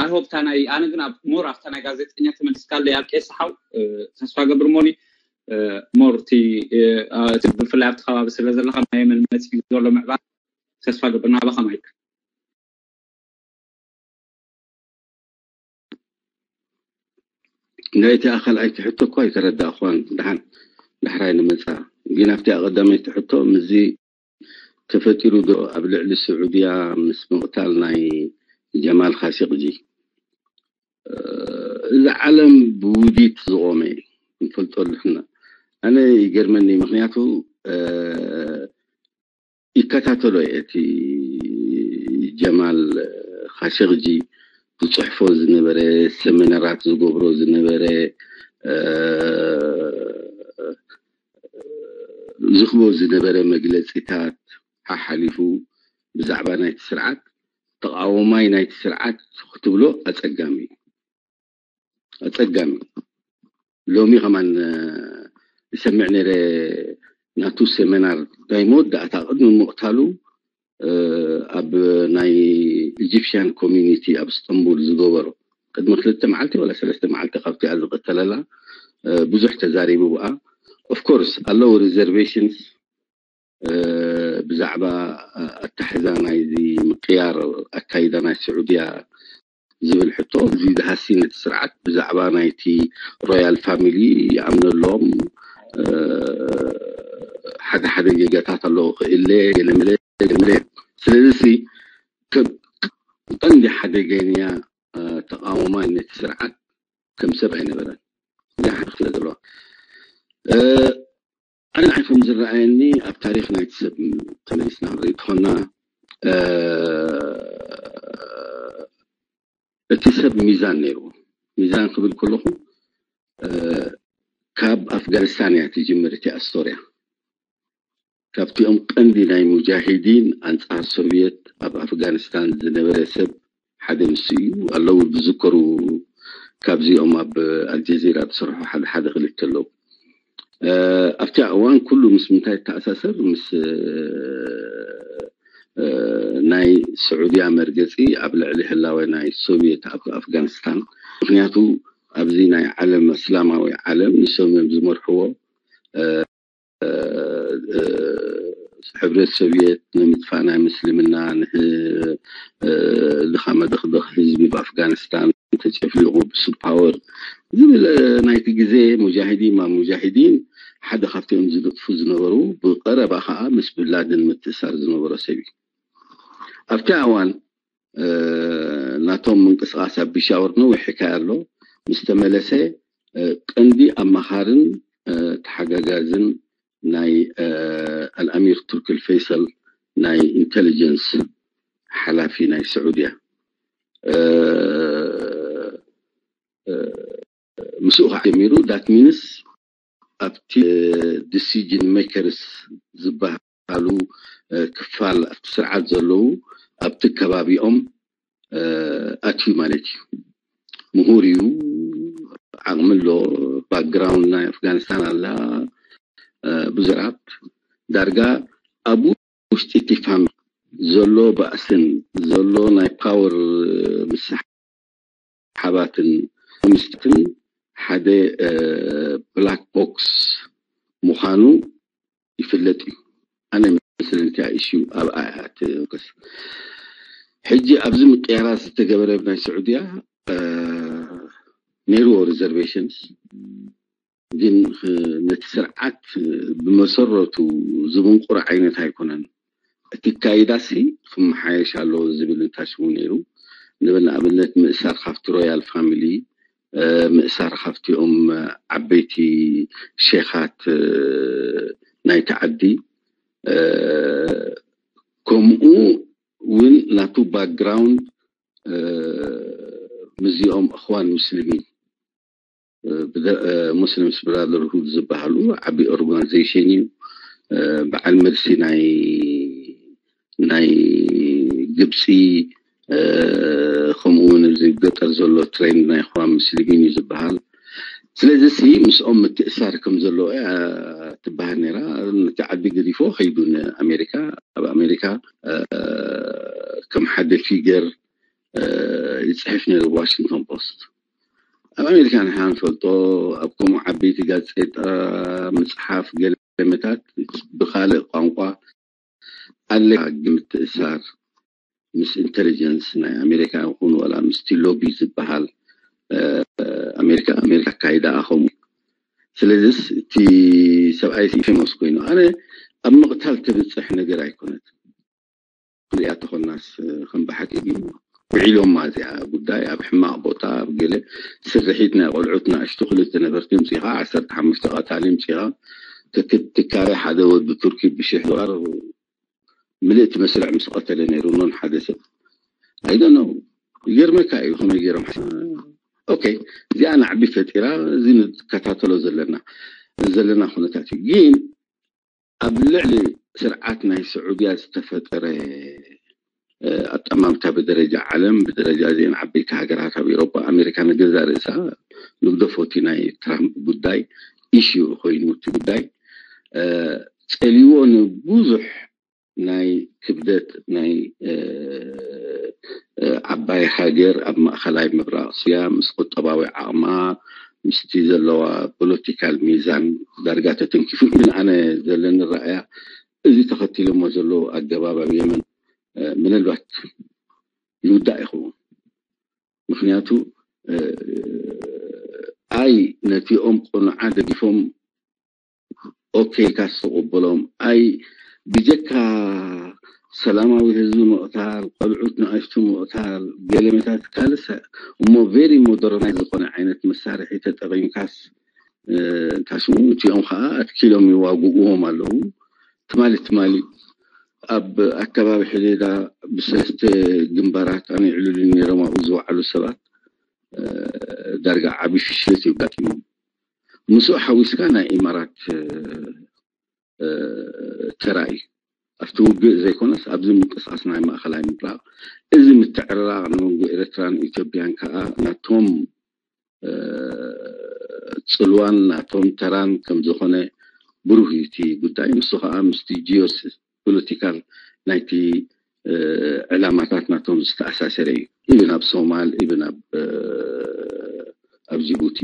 ኣይሆፕ ታናይ ኣነ ግን ኣብ ሞር ኣብታ ናይ ጋዜጠኛ ተመልስካለይ ኣብ ቄስ ሓው ተስፋ ገብር ሞኒ ሞር እቲ ብፍላይ ኣብቲ ከባቢ ስለ ዘለካ ናይ የመን መፅኡ ዘሎ ምዕባል ተስፋ ገብር ናባኻ ማይክ። ናይቲ ኣኻልኣይቲ ሕቶ እኳ ኣይተረዳእኳን። ደሓን ዳሕራይ ንመፃ ግን ኣብቲ ኣቐዳመይቲ ሕቶ ምዚ ተፈጢሩ ዶ ኣብ ልዕሊ ስዑድያ ምስ ምቕታል ናይ ጀማል ካሲቕጂ? እዚ ዓለም ብውዲት ዝቖመ ንፈልጦ ኣለና። ኣነ ይገርመኒ፣ ምክንያቱ ይከታተሎ እየ እቲ ጀማል ካሸቅጂ ዝፅሕፎ ዝነበረ፣ ሰሚናራት ዝገብሮ ዝነበረ፣ ዝህቦ ዝነበረ መግለፂታት ሓሓሊፉ ብዛዕባ ናይቲ ስርዓት ተቃዋማይ ናይቲ ስርዓት ክትብሎ ኣፀጋሚ እዩ። ኣፀጋሚ እዩ። ሎሚ ከማን ዝሰምዕ ነይረ ናቱ ሰሚናር ናይ መወዳእታ ቅድሚ ምቕታሉ ኣብ ናይ ኢጂፕሽያን ኮሚኒቲ ኣብ እስጠንቡል ዝገበሮ ቅድሚ ክልተ መዓልቲ ወላ ሰለስተ መዓልቲ ካብቲኣ ዝቐተለላ ብዙሕ ተዛሪቡ ብኣ። ኦፍኮርስ ኣለዉ ሪዘርቬሽንስ ብዛዕባ ኣታሕዛ ናይዚ ምቅያር ኣካይዳ ናይ ስዑድያ ዝብል ሕቶ እዚ ዝሃሲ ነቲ ስርዓት ብዛዕባ ናይቲ ሮያል ፋሚሊ ይኣምነሎም ሓደ ሓደ ጌጋታት ኣለዉ ክእለ ገለመለ ገለመለ ስለዚ ቀንዲ ሓደገኛ ተቃዋማይ ነቲ ስርዓት ከም ሰብ ኣይነበረን። እዚ ሓደ ክፍለ ዘለዎ ኣነ ንዓይ ከም ዝረኣየኒ ኣብ ታሪክ ናይቲ ሰብ ተመሊስና ንርኢ እንተኾና እቲ ሰብ ሚዛን ነይርዎ። ሚዛን ክብል ከለኹ ካብ ኣፍጋኒስታን እያ ትጅምር እቲኣ ስቶርያ። ካብቲኦም ቀንዲ ናይ ሙጃሂዲን ኣንጻር ሶቪየት ኣብ ኣፍጋኒስታን ዝነበረ ሰብ ሓደ ንሱ እዩ። ኣለዉ ዝዝከሩ ካብዚኦም ኣብ ኣልጀዚራ ዝሰርሑ ሓደ ሓደ ክልተ ኣለዉ። ኣብቲ እዋን ኩሉ ምስ ምንታይ ይተኣሳሰር? ምስ ናይ ስዑድያ መርገፂ ኣብ ልዕሊ ህላወ ናይ ሶቪየት ኣብ ኣፍጋኒስታን። ምክንያቱ ኣብዚ ናይ ዓለም እስላማዊ ዓለም ንሶም እዮም ዝመርሕዎ። ሕብረት ሶቪየት ንምጥፋእ ናይ ምስልምና ንድኻ መደኽደኽ ህዝቢ ብኣፍጋኒስታን ተጨፍሊቑ ብሱድ ፓወር ዝብል ናይቲ ግዜ ሙጃሂዲን ማ ሙጃሂዲን ሓደ ካብቲኦም ዝልጥፉ ዝነበሩ ብቀረባ ከዓ ምስ ብላድን ምትእሳር ዝነበሮ ሰብ እዩ። ኣብቲ ኣዋን ናቶም ምንቅስቃስ ኣብ ቢሻወር ነዊሕ ሕካይ ኣሎ ምስ ተመለሰ ቀንዲ ኣማኻርን ተሓጋጋዝን ናይ ኣልኣሚር ቱርክል ፈይሰል ናይ ኢንቴሊጀንስ ሓላፊ ናይ ስዑድያ ምስኡ ከዓ ጀሚሩ ዳት ሚንስ ኣብቲ ዲሲጅን ሜከርስ ዝበሃሉ ክፋል ኣብቲ ስርዓት ዘለዉ ኣብቲ ከባቢኦም ኣትዩ ማለት እዩ። ምሁር እዩ፣ ዓቕሚ ኣሎ። ባክግራውንድ ናይ ኣፍጋኒስታን ኣላ ብዙራት ዳርጋ ኣብ ውሽጢ እቲ ፋሚሊ ዘሎ ባእስን ዘሎ ናይ ፓወር ምስሓባትን ምስትን ሓደ ብላክ ቦክስ ምዃኑ ይፍለጥ እዩ። ኣነ መስለኒ እቲኣ ኢሹ ኣብኣ እያ ትውከስ። ሕጂ ኣብዚ ምቅያራት ዝተገበረ ናይ ስዑድያ ነይርዎ ሪዘርቬሽንስ ግን ነቲ ስርዓት ብመሰረቱ ዝምንቁር ዓይነት ኣይኮነን። እቲ ካይዳሲ ክመሓየሽ ኣለዎ ዝብል እንታሽሙ ነይሩ። ንብል ንኣብነት ምእሳር ካብቲ ሮያል ፋሚሊ፣ ምእሳር ካብቲኦም ዓበይቲ ሼኻት ናይቲ ዓዲ፣ ከምኡ እውን ናቱ ባክግራውንድ ምስዚኦም እኽዋን ሙስሊሚን ሙስሊምስ ብራደርሁድ ዝበሃሉ ዓቢ ኦርጋናይዜሽን እዩ። በዓል መልሲ ናይ ናይ ግብፂ፣ ከምኡ እውን እዚ ገጠር ዘሎ ትሬንድ ናይ እኽዋን ሙስሊሚን እዩ ዝበሃል። ስለዚ ሲ ምስኦም ምትእሳር ከም ዘለዎ እያ ትበሃል ነይራ። ነቲ ዓዲ ገዲፎ ከይዱ ንኣሜሪካ፣ ኣብ ኣሜሪካ ከም ሓደ ፊገር ይፅሕፍ ነይሩ ዋሽንግቶን ፖስት። ኣብ ኣሜሪካ ንሕና ንፈልጦ፣ ኣብ ከምኡ ዓበይቲ ጋዜጣ፣ መፅሓፍ፣ ገለመታት ብካልእ ቋንቋ ኣለካ ግምትእሳር ምስ ኢንተሊጀንስ ናይ ኣሜሪካ ይኹን ዋላ ምስቲ ሎቢ ዝበሃል ኣሜሪካ ኣሜሪካ ኣካይዳ ከምኡ። ስለዚስ እቲ ሰብኣይ ፌሞስ ኮይኑ ኣነ ኣብ ምቕታል ተብፅሕ ነገር ኣይኮነት። ክሪኣ ተኾናስ ከም ብሓቂ ውዒሎማ እዚኣ ጉዳይ ኣብ ሕማቕ ቦታ ኣብ ገለ ስርሒት ናይ ቆልዑት ንኣሽቱ ክልተ ነበርቲ ምፅኢኻ ዓሰርተ ሓሙሽተ ቀታሊ ምፅኢኻ ትካረ ሓደ ወዲ ቱርኪ ብሽሕ ዶላር ምልእቲ መስርዕ ምስ ቀተለ ነይሩ ኖን ሓደ ሰብ ኣይደኖ ይገርመካ እዩ ከመይ ገይሮም ኦኬ እዚኣ ናዕቢ ፈጢራ እዚ ንከታተሎ ዘለና ዘለና ኩነታት እዩ ግን ኣብ ልዕሊ ስርዓት ናይ ስዑድያ ዝተፈጠረ ኣጠማምታ ብደረጃ ዓለም ብደረጃ እዚአን ዓበይቲ ሃገራት ኣብ ኤሮፓ ኣሜሪካ ንገዛ ርእሳ ንግደፎቲ ናይ ትራምፕ ጉዳይ ኢሹ ኮይኑ እቲ ጉዳይ ፀልዎ ንብዙሕ ናይ ክብደት ናይ ዓባይ ሃገር ኣብ ማእኸላይ ምብራቕ ስያ ምስ ቁጠባዊ ዓቕማ ምስቲ ዘለዋ ፖለቲካል ሚዛን ዳርጋ ተተንኪፉ ግን ኣነ ዘለኒ ረኣያ እዚ ተኸቲሎሞ ዘለዉ ኣገባብ ኣብ የመን ምናልባት ይውዳእ ይኸውን ምክንያቱ ኣይ ነቲኦም ቁኑዓ ደጊፎም ኦኬ ኢልካ ዝተቐበሎም ኣይ ብጀካ ሰላማዊ ህዝቢ ምቕታል ቆልዑት ንኣሽቱ ምቕታል ገለመታት ካልእ እሞ ቬሪ ሞደርናይዝ ዝኾነ ዓይነት መሳርሒ ተጠቒምካስ እንታይ ሽሙ እቲኦም ከዓ ኣትኪሎም ይዋግእዎም ኣለዉ ትማሊ ትማሊ ኣብ ኣከባቢ ሕዴዳ ብሰለስተ ግንባራት ኣነ ይዕልሉ ነይሮም ኣብኡ ዝወዓሉ ሰባት ዳርጋ ዓብዪ ፍሽለት እዩ ኣጋጢሞም ምስኡ ሓዊስካ ናይ ኢማራት ተራ እዩ ኣብቲ ውግእ ዘይኮነስ ኣብዚ ምንቅስቃስ ናይ ማእኸላይ ምብራቕ እዚ ምትዕርራቕ ንመንጎ ኤርትራን ኢትዮጵያን ከዓ ናቶም ፅልዋን ናቶም ተራን ከም ዝኾነ ብሩህ እዩ እቲ ጉዳይ ንሱ ከዓ ምስቲ ጂኦስ ፖለቲካል ናይቲ ዕላማታት ናቶም ዝተኣሳሰረ እዩ ኢብን ኣብ ሶማል ኢብን ኣብ ኣብ ጅቡቲ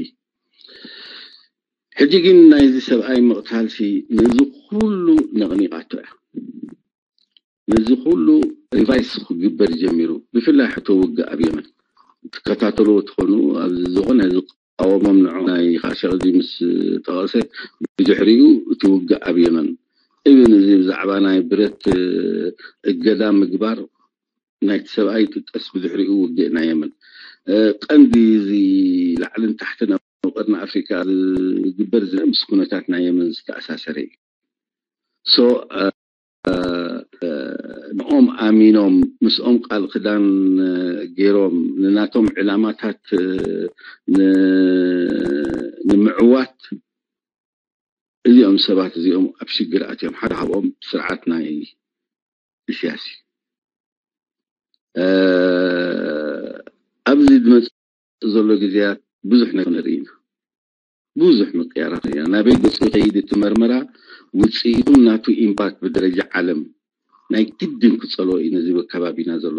ሕጂ ግን ናይዚ ሰብኣይ ምቕታልሲ ነዚ ኩሉ ነቕኒቓቶ እያ ነዚ ኩሉ ሪቫይስ ክግበር ጀሚሩ ብፍላይ ሕቶ ውግእ ኣብ የመን ትከታተልዎ ትኾኑ ኣብዚ ዝኾነ ዝቃወሞም ንዑ ናይ ካሸቕዚ ምስ ጠቐሰ ብድሕሪኡ እቲ ውግእ ኣብ የመን እብን እዚ ብዛዕባ ናይ ብረት እገዳ ምግባር ናይቲ ሰብኣይ ይጥቀስ ብድሕሪኡ ውግእ ናይ የመን ቀንዲ እዚ ላዕልን ታሕትን ኣብ ቀርኒ ኣፍሪካ ዝግበር ዝምስ ኩነታት ናይ የመን ዝተኣሳሰረ እዩ ንኦም ኣሚኖም ምስኦም ቃል ክዳን ገይሮም ንናቶም ዕላማታት ንምዕዋት እዚኦም ሰባት እዚኦም ኣብ ሽግር ኣትዮም ሓደ ካብኦም ስርዓት ናይ ኢስያስ እዩ ኣብዚ ዝመፅእ ዘሎ ግዜያት ብዙሕ ነገር ንርኢ ኢና ብዙሕ ምቅያራት ኢና ናበይ ገፁ ከይድ እቲ መርመራ ውፅኢቱ ናቱ ኢምፓክት ብደረጃ ዓለም ናይ ግድን ክፀልኦ እዩ ነዚ ከባቢና ዘሎ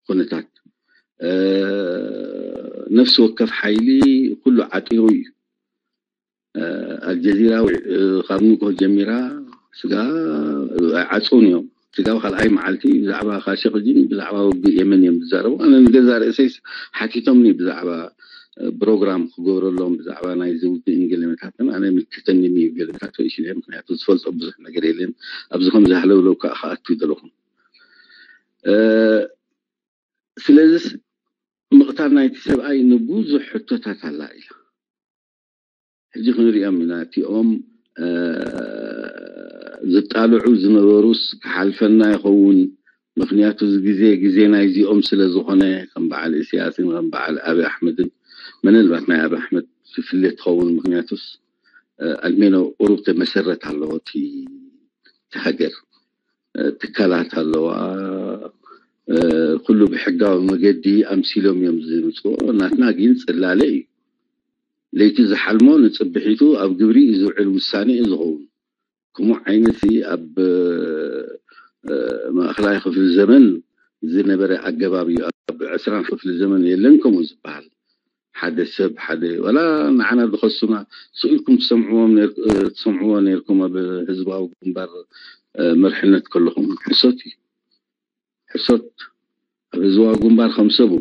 ኩነታት ነፍሲ ወከፍ ሓይሊ ኩሉ ዓጢሩ እዩ ኣልጀዚራ ካብ ንግሆ ጀሚራ ስጋ ኣይዓፅውን እዮም ስጋብ ካልኣይ መዓልቲ ብዛዕባ ካሸቅጂን ብዛዕባ ውግእ የመን እዮም ዝዛረቡ ኣነ ንገዛ ርእሰይ ሓቲቶምኒ ብዛዕባ ፕሮግራም ክገብረሎም ብዛዕባ ናይ ዝውግእን ገለመታትን ኣነ ምልክተኒ እዩ። ገለመታት ወይሽ ምክንያቱ ዝፈልጦ ብዙሕ ነገር የለን። ኣብዚ ከም ዝሃለውለው ከዓ ክኣቱ ዘለኹም ስለዚስ ምቕታል ናይቲ ሰብኣይ ንብዙሕ ሕቶታት ኣላ ኢላ። ሕጂ ክንሪኦም ኢና እቲኦም ዝጣልዑ ዝነበሩስ ክሓልፈና ይኸውን። ምክንያቱ እዚ ግዜ ግዜ ናይዚኦም ስለ ዝኾነ ከም በዓል እስያስን ከም በዓል ኣብይ ኣሕመድን ምናልባት ናይ ኣብይ ኣሕመድ ፍፍሌት ትኸውን። ምክንያቱስ ኣልሜኖ ቁሩብ መሰረት ኣለዎ እቲ ሃገር ትካላት ኣለዋ። ኩሉ ብሕጋዊ መገዲ ኣምሲሎም እዮም ዝምፅዎ። ናትና ግን ፅላለ እዩ። ለይቲ ዝሓልሞ ንፅብሒቱ ኣብ ግብሪ እዩ ዝውዕል ውሳነ እዩ ዝኸውን። ከምኡ ዓይነት ኣብ ማእኸላይ ክፍሊ ዘመን ዝነበረ ኣገባብ እዩ። ኣብ ዕስራን ክፍሊ ዘመን የለን ከምኡ ዝበሃል። ሓደ ሰብ ሓደ ዋላ ንዓና ዝኸሱና ስኢልኩም ትሰምዕዎም ትሰምዕዎ ነርኩም ኣብ ህዝባዊ ግንባር መርሕነት ከለኹም ሕሶት እዩ። ሕሶት ኣብ ህዝባዊ ግንባር ከም ሰቡ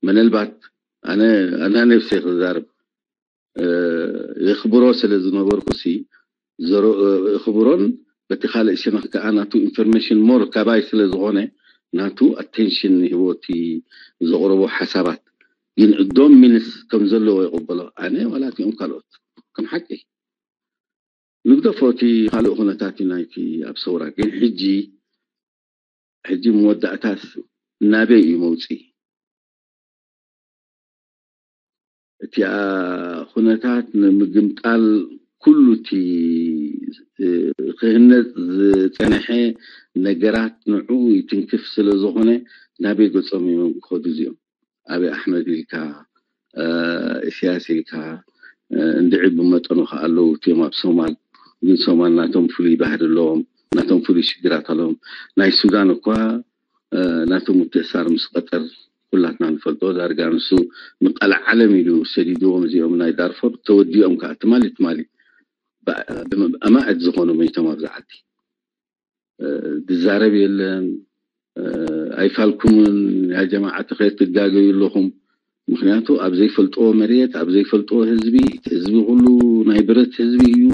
ምናልባት ኣነ ኣና ነፍሰይ ክዛርብ የኽብሮ ስለ ዝነበርኩ ሲ የኽብሮን በቲ ካልእ ሸነኽ ከዓ ናቱ ኢንፎርሜሽን ሞር ካባይ ስለ ዝኾነ ናቱ ኣቴንሽን ሂቦቲ ዘቕረቦ ሓሳባት ግን እዶም ሚንስ ከም ዘለዎ ይቕበሎ። ኣነ ዋላ እቲኦም ካልኦት ከም ሓቂ ንግደፎ እቲ ካልእ ኩነታት እዩ ናይቲ ኣብ ሰውራ ግን ሕጂ ሕጂ መወዳእታስ ናበይ እዩ መውፅኢ? እቲኣ ኩነታት ንምግምጣል ኩሉ እቲ ክህነፅ ዝፀነሐ ነገራት ንዑ ይትንክፍ ስለ ዝኾነ ናበይ ገፆም እዮም ክኸዱ እዚኦም? ኣብይ ኣሕመድ ኢልካ እስያስ ኢልካ እንድዒ ብመጠኑ ከ ኣለዉ እቲኦም ኣብ ሶማል ግን ሶማል ናቶም ፍሉይ ባህሪ ኣለዎም ናቶም ፍሉይ ሽግራት ኣለዎም ናይ ሱዳን እኳ ናቶም ምትእሳር ምስ ቀጠር ኩላትና ንፈልጦ ዳርጋ ንሱ ንቃል ዓለም ኢሉ ሰዲድዎም እዚኦም ናይ ዳርፎር ተወዲኦም ከዓ ትማሊ ትማሊ ኣማእት ዝኾኑ መይቶም ኣብዚ ዓዲ ዝዛረብ የለን ኣይፋልኩምን ያ ጀማዓት ከይትጋገዩ ኣለኹም ምክንያቱ ኣብ ዘይፈልጥዎ መሬት ኣብ ዘይፈልጥዎ ህዝቢ ህዝቢ ኩሉ ናይ ብረት ህዝቢ እዩ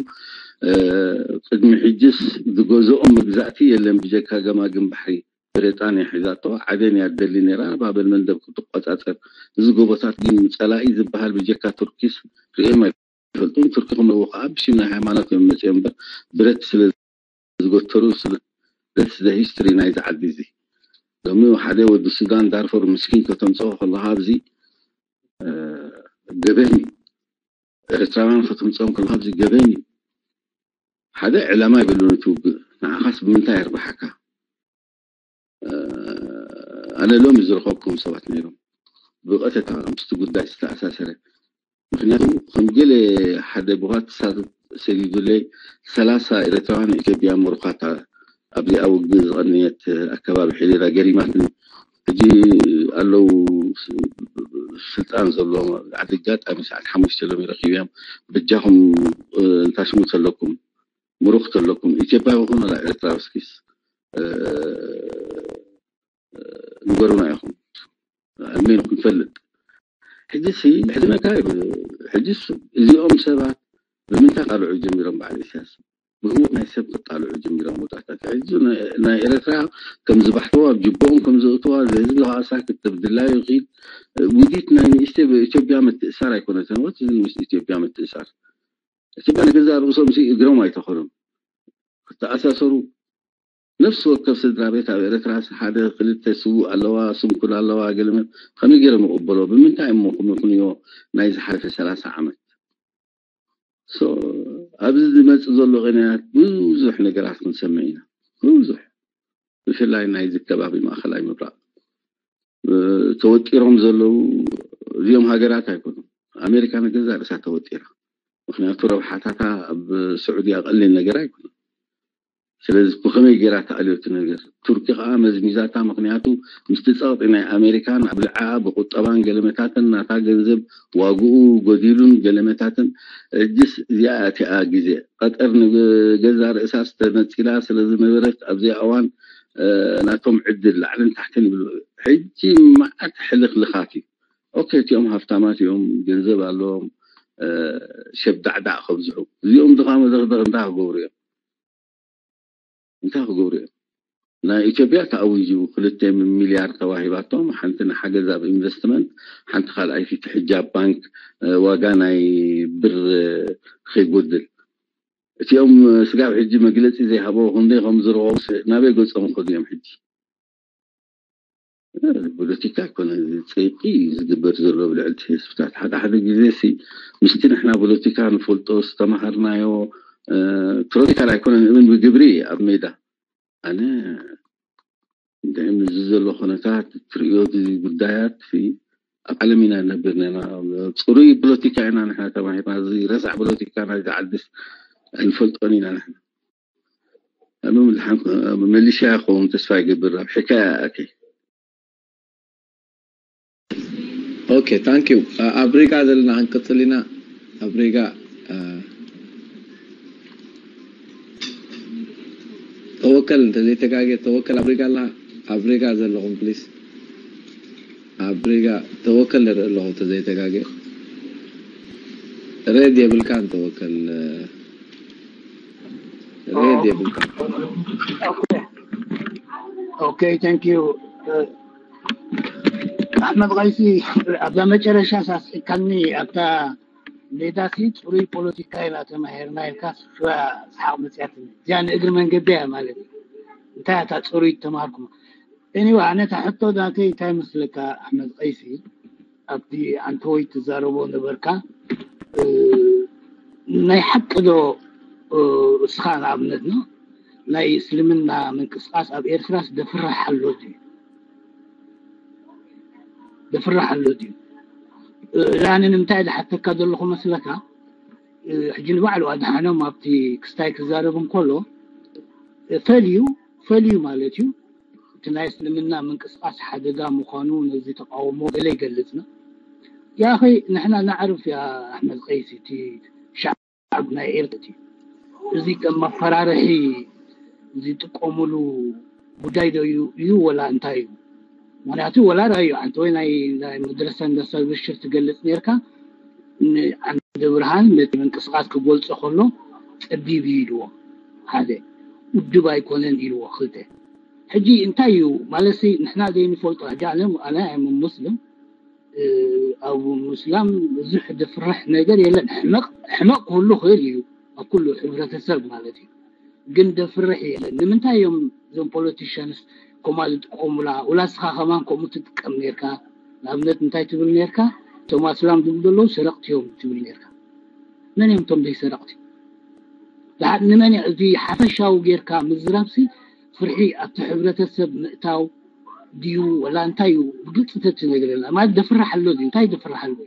ቅድሚ ሕጅስ ዝገዝኦም መግዛእቲ የለን ብጀካ ገማግም ባሕሪ ብሪጣንያ ሒዛቶ ዓደን እያ ትደሊ ነይራ ባበል መንደብ ክትቆፃፀር እዚ ጎቦታት ግን ፀላኢ ዝበሃል ብጀካ ቱርኪስ ርእዮም ኣይፈልጡን ቱርኪ ክምልዎ ከዓ ብሽም ናይ ሃይማኖት እዮም መፅኦም እምበር ብረት ስለ ዝጎተሩ ስለ that's the history ናይዚ ዓዲ እዚ ሎሚ ሓደ ወዲ ሱዳን ዳርፎር ምስኪን ከተምፅኦ ከለካ ኣብዚ ገበን እዩ ኤርትራውያን ከተምፅኦም ከለካ ኣብዚ ገበን እዩ ሓደ ዕላማ ይብሉን እቲ ውግእ ንዓኻስ ብምንታይ የርብሓካ ኣነ ሎም ዝረኸብኩም ሰባት ነይሮም ብቐተታ ምስቲ ጉዳይ ዝተኣሳሰረ ምክንያቱ ከም ገለ ሓደ ብዋትሳፕ ሰዲዱለይ ሰላሳ ኤርትራውያን ኢትዮጵያ ምሩኻት ኣብዚኣ ውግእ ዝቐነየት ኣከባቢ ሒደራ ገሪማትኒ ሕጂ ኣለዉ ስልጣን ዘለዎም ዓዲ ኣጋጣሚ ሰዓት ሓሙሽተ ሎሚ ረኪብዮም በጃኹም እንታሽሙ ተለኩም ምሩኽ ተለኩም ኢትዮጵያ ይኹን ወላ ኤርትራ እስኪስ ንገሩና ኢኹም ኣልሜን ክንፈልጥ ሕጂ ሲ ሕዝነካ ሕጂ እዚኦም ሰባት ብምንታይ ቃልዑ ጀሚሮም በዓል ኢሳያስ ብህወት ናይ ሰብ ክጣልዑ ጀሚሮም ወጣታት ሕጂ ናይ ኤረትራ ከም ዝባሕትዋ ኣብ ጅቦኦም ከም ዘእትዋ ህዝቢ ከኣሳ ክትብ ድላዩ ኺድ ውዲት ናይ ንእሽተ ኢትዮጵያ ምትእሳር ኣይኮነትን ወት ምስ ኢትዮጵያ ምትእሳር ኢትዮጵያ ንገዛ ርእሶም ሲ እግሮም ኣይተኸሉም ክተኣሳሰሩ ነፍሲ ወከፍ ስድራ ቤት ኣብ ኤረትራ ሓደ ክልተ ስውእ ኣለዋ ስንኩል ኣለዋ ገለመ ከመይ ገይሮም ይቕበሎ ብምንታይ እሞ ክምኽንዮ ናይ ዝሓለፈ ሰላሳ ዓመት ኣብዚ ዝመፅእ ዘሎ ቅንያት ብዙሕ ነገራት ክንሰምዕ ኢና ብዙሕ ብፍላይ ናይ ዝከባቢ ማእኸላይ ምብራቕ ተወጢሮም ዘለዉ እዚኦም ሃገራት ኣይኮኑም ኣሜሪካ ንገዛ ርእሳ ተወጢራ ምክንያቱ ረብሓታታ ኣብ ስዑድያ ቀሊል ነገር ኣይኮነን ስለዚ ብኸመይ ገይራ ተኣልዮ እቲ ነገር ቱርኪ ከዓ መዝሚዛታ ምክንያቱ ምስቲ ፀቕጢ ናይ ኣሜሪካን ኣብ ልዓ ብቁጠባን ገለመታትን ናታ ገንዘብ ዋግኡ ጎዲሉን ገለመታትን እጅስ እዚኣ እቲኣ ግዜ ቀጠር ንገዛ ርእሳ ዝተነፂላ ስለዝነበረት ኣብዚኣ እዋን ናቶም ዕድል ላዕልን ታሕትን ይብሉ ሕጂ መዓት ሕልኽልኻት እዩ ኦኬ፣ እቲኦም ሃፍታማት እዮም፣ ገንዘብ ኣለዎም፣ ሸብዳዕዳዕ ከብዝሑ። እዚኦም ድኻ መዘኽደኽ እንታይ ክገብሩ እዮም? እንታይ ክገብሩ እዮም? ናይ ኢትዮጵያ ተኣዊጁ ክልተ ሚልያርድ ተዋሂባቶም፣ ሓንቲ ንሓገዝ ኣብ ኢንቨስትመንት፣ ሓንቲ ካልኣይቲ ሕጃብ ባንክ፣ ዋጋ ናይ ብር ከይጎድል። እቲኦም ስጋብ ሕጂ መግለፂ ዘይሃበው ክንደይ ከም ዝረኸቡ ናበይ ገፆም ከዱ እዮም ሕጂ? ፖለቲካ ኣይኮነ፣ እዚ ፅይቂ ዝግበር ዘሎ ብልዕልቲ ህዝብታት ሓደ ሓደ ግዜ ሲ ምስቲ ንሕና ፖለቲካ ንፈልጦ ዝተማሃርናዮ ፖለቲካ ኣይኮነን እብን ብግብሪ ኣብ ሜዳ ኣነ እንታይ እዚ ዘሎ ኩነታት ትሪኦ እዚ ጉዳያት ኣብ ዓለም ኢና ነብር ነና። ፅሩይ ፖለቲካ ኢና ንሕና ተማሂርና። እዚ ረሳዕ ፖለቲካ ናይዚ ዓድስ ኣይንፈልጦን ኢና ንሕና። መሊሻ ክኸውን ተስፋ ይገብር ኣብ ሕካያ ኣኪ ኦኬ ታንክ ዩ። ኣብ ሪጋ ዘለና ክንቅፅል ኢና። ኣብ ሪጋ ተወከል እንተዘይተጋገ ተወከል ኣብ ሪጋ ኣላ። ኣብ ሪጋ ዘለኹም ፕሊስ ኣብ ሪጋ ተወከል ንርኢ ኣለኹ እንተዘይተጋገ ሬድ የብልካን ተወከል ሬድ የብልካን። ኦኬ ታንክ ዩ። ኣሕመድ ቀይሲ ኣብዛ መጨረሻ ሳስሒካኒ ኣብታ ሜዳሲ ፅሩይ ፖለቲካ ኢና ተማሂርና ኢልካ ስፍራ ሰሓቕ መፅያትኒ እዚኣ ንእግሪ መንገዲ እያ ማለት እዩ። እንታይ እታ ፅሩይ ተማሃርኩም? Anyway ኣነ እታ ሕቶ ናተይ እንታይ መስለካ ኣሕመድ ቀይሲ ኣብቲ ኣንተወይ ትዛረቦ ነበርካ ናይ ሓቂ ዶ እስኻ ንኣብነት ነው ናይ እስልምና ምንቅስቃስ ኣብ ኤርትራስ ደፍርሕ ኣሎ ድዩ? ደፍርሕ ኣሎ ድዩ? ላኒ ንምንታይ ዝሓተካ ዘለኹ መስለካ ሕጂ ንባዕሉ ኣድሓኖም ኣብቲ ክስታይ ክዛረብ እንከሎ ፈልዩ ፈልዩ ማለት እዩ እቲ ናይ እስልምና ምንቅስቃስ ሓደጋ ምዃኑ ነዚ ተቃውሞ ገለ ይገልጽ ነው። ያኺ ንሕና ናዕርፍ ያ ኣሕመድ ቀይሲ እቲ ሸዓብ ናይ ኤርትራ እዩ። እዚ ከም መፈራርሒ ዝጥቀሙሉ ጉዳይ ዶ እዩ እዩ ወላ እንታይ እዩ? ምክንያቱ ወላ ራእዩ ኣንተ ወይ ናይ ናይ መድረሰ እንዳሰብሽር ትገልጽ ነርካ ንዓንደ ብርሃን ነቲ ምንቅስቃስ ክገልጾ ከሎ ጸቢብ እዩ ኢልዎ ሓደ ውድብ ኣይኮነን ኢልዎ ክልተ ሕጂ እንታይ እዩ ማለት ንሕና ዘይንፈልጦ ሕጂ ኣነ ኣነ ኣይም ሙስሊም ኣብ ምስላም ብዙሕ ድፍርሕ ነገር የለን ሕመቕ ሕመቕ ክህሉ ክእል እዩ ኣብ ኩሉ ሕብረተሰብ ማለት እዩ ግን ደፍርሕ የለን ንምንታይ እዮም እዞም ፖለቲሽንስ ከምኣ ዝጥቀሙላ ውላ ስኻ ከማን ከምኡ ትጥቀም ነርካ ንኣብነት እንታይ ትብል ነርካ እቶም ኣስላም ዝብሉ ዘለዉ ሰረቕቲ እዮም ትብል ነርካ መን እዮም እቶም ዘይሰረቕቲ ንመን እዚ ሓፈሻዊ ጌርካ ምዝራብሲ ፍርሒ ኣብቲ ሕብረተሰብ ምእታው ድዩ ወላ እንታይ እዩ ብግልፂ ተትነግረና ማለት ደፍራሕ ኣሎ ድዩ እንታይ ደፍራሕ ኣሎ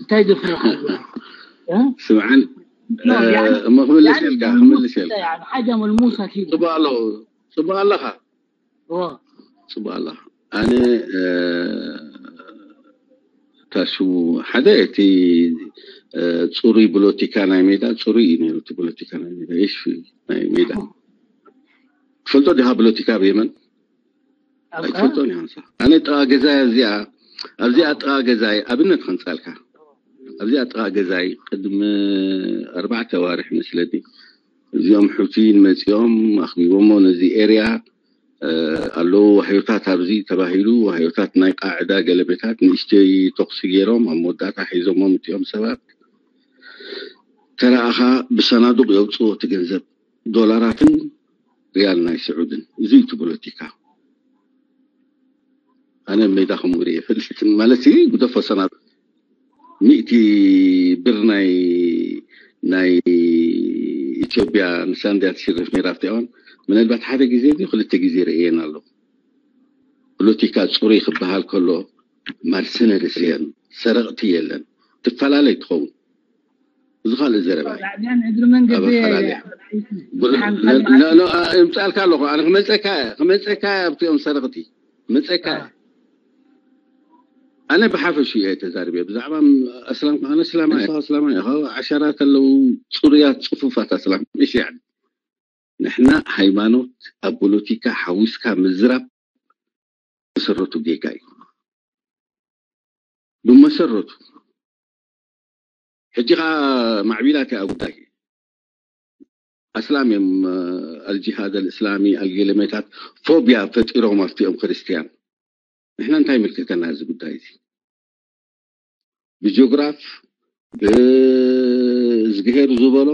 እንታይ ደፍራሕ ኣሎ ስምዓን እሞ ክምልስ ኢልካ ክምልስ ኢልካ ሓጃ መልሙሳ ኪ ፅቡቅ ኣለኹ ፅቡቅ ኣለኻ ፅቡቅ ኣለኻ ኣነ ታሹ ሓደ እቲ ፅሩይ ብሎቲካ ናይ ሜዳ ፅሩይ እዩ ነሩ እቲ ብሎቲካ ናይ ሜዳ ይሽ ናይ ሜዳ ትፈልጦ ዲኻ ብሎቲካ ኣብ የመን ኣይትፈልጦን ኢኻ ኣነ ጥቃ ገዛይ ኣብዚኣ ኣብዚኣ ጥቃ ገዛይ ኣብነት ከንፃልካ ኣብዚኣ ጥቃ ገዛይ ቅድሚ ኣርባዕተ ዋርሕ መስለኒ እዚኦም ሑቲ ንመፂኦም ኣኽቢቦሞ ነዚ ኤርያ ኣለዉ ዋህዮታት ኣብዚ ተባሂሉ ዋህዮታት ናይ ቃዕዳ ገለመታት ንእሽተይ ተኩሲ ገይሮም ኣብ መወዳእታ ሒዞሞም እቲኦም ሰባት ተረኣኻ ብሰናዱቅ የውፅዎ እቲ ገንዘብ ዶላራትን ሪያል ናይ ስዑድን እዚ እዩ እቲ ፖለቲካ ኣነ ሜዳ ከምኡ ርየ ፈልስትን ማለት ግደፎ ሰናዱቅ ሚእቲ ብር ናይ ናይ ኢትዮጵያ ንሳንድያ ትሽርፍ ነይራ ኣብቲ እዋን ምናልባት ሓደ ግዜ ዚ ክልተ ግዜ ርእየን ኣለኹ ፖለቲካ ፅሩይ ክበሃል ከሎ ማርሰነርስ የን ሰረቕቲ የለን ትፈላለይ ትኸውን እዚ ካልእ ዘረባ እዩ። ላዕሊያን እግሪ መንገዲ ኣበፈላለያ። ሓንሳብ ኖ- ኖ- ኖ- ኖ- እምፃልካ ኣለኹ ኣነ ክመፀካ ክመፀካ ኣብቲኦም ሰረቕቲ ክመፀካ ኣነ ብሓፈሹ እየ ተዛርበ ብዛዕባ ኣስላም ኣነ እስላማ እየ ኣስላማ እየ ዓሸራት ኣለዉ ፅሩያት ፅፉፋት ኣስላም እሺ ያኒ ንሕና ሃይማኖት ኣብ ፖለቲካ ሓዊስካ ምዝራብ ብመሰረቱ ጌጋ እዩ። ብመሰረቱ ሕጂ ከዓ ማዕቢላት እያ ጉዳይ። ኣስላም እዮም። ኣልጂሃድ ኣልእስላሚ ኣልገለመታት ፎቢያ ፈጢሮም ኣብቲኦም ክርስትያን። ንሕና እንታይ ይምልከተና እዚ ጉዳይ እዚ? ብጆግራፍ ብዝግሄር ዝበሎ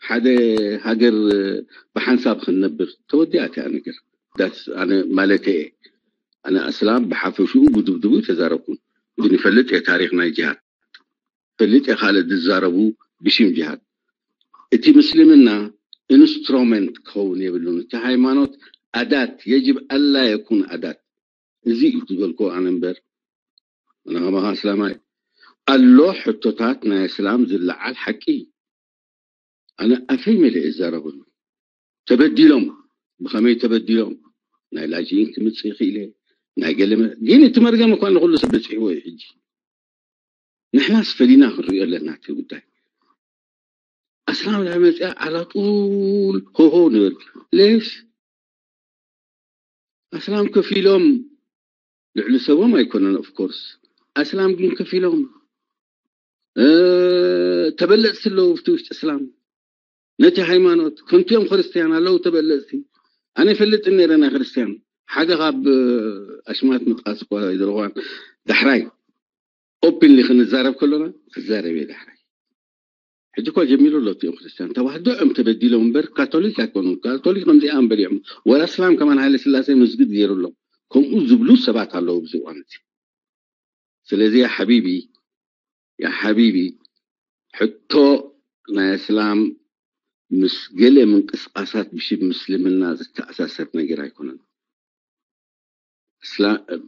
ሓደ ሃገር ብሓንሳብ ክንነብር ተወዲኣ እቲኣ ነገር። ኣነ ማለት እየ። ኣነ ኣስላም ብሓፈሽኡ ብድብድቡ ተዛረብኩም ግን ይፈልጥ እየ ታሪክ ናይ ጅሃድ ፈልጥ እየ ካልእ ዝዛረቡ ብሽም ጅሃድ። እቲ ምስልምና ኢንስትሮመንት ክኸውን የብሉን። እቲ ሃይማኖት ኣዳት የጅብ ኣላ የኩን ኣዳት። እዚ እዩ ዝበልኮ ኣነ እምበር ኣነ ከማኻ ኣስላማይ ኣሎ ሕቶታት ናይ ኣስላም ዝለዓል ሓቂ እዩ። ኣነ ኣፈይ መለ እዛረበሉ ተበዲሎም ብኸመይ ተበዲሎም ናይ ላጅኢን ክምፅእ ይኽእል እየ ናይ ገለ ግን እቲ መርገም እኳ ንኩሉ ሰብ በፂሕዎ እዩ ሕጂ ንሕናስ ፈሊና ክንሪኦ ኣለና እቲ ጉዳይ ኣስላም ዳ መፅያ ዓላጡል ሆሆ ንብል ሌሽ ኣስላም ከፊሎም ልዕሊ ሰቦም ኣይኮነን ኦፍኮርስ ኣስላም ግን ከፊሎም ተበለፅቲ ኣለዉ ብቲ ውሽጢ እስላም ነቲ ሃይማኖት ከምቲኦም ክርስትያን ኣለዉ ተበለፅቲ ኣነ ይፈልጥን ነረ ናይ ክርስትያን ሓደ ካብ ኣሽማት ምጥቃስ እኳ ይደልኳን ዳሕራይ ኦፕንሊ ክንዛረብ ከሎና ክዛረብ እየ ዳሕራይ ሕጂ እኳ ጀሚሩ ኣሎ እቲኦም ክርስትያን ተዋህዶ እዮም ተበዲሎም እምበር ካቶሊክ ኣይኮኑን ካቶሊክ ከምዚኣ እምበር እዮም ወላ እስላም ከማን ሃይለ ስላሴ መስጊድ ገይሩሎም ከምኡ ዝብሉ ሰባት ኣለዉ ብዚ እዋን እዚ ስለዚ ያ ሓቢቢ ያ ሓቢቢ ሕቶ ናይ እስላም ምስ ገለ ምንቅስቃሳት ብሽም ምስልምና ዝተኣሳሰር ነገር ኣይኮነን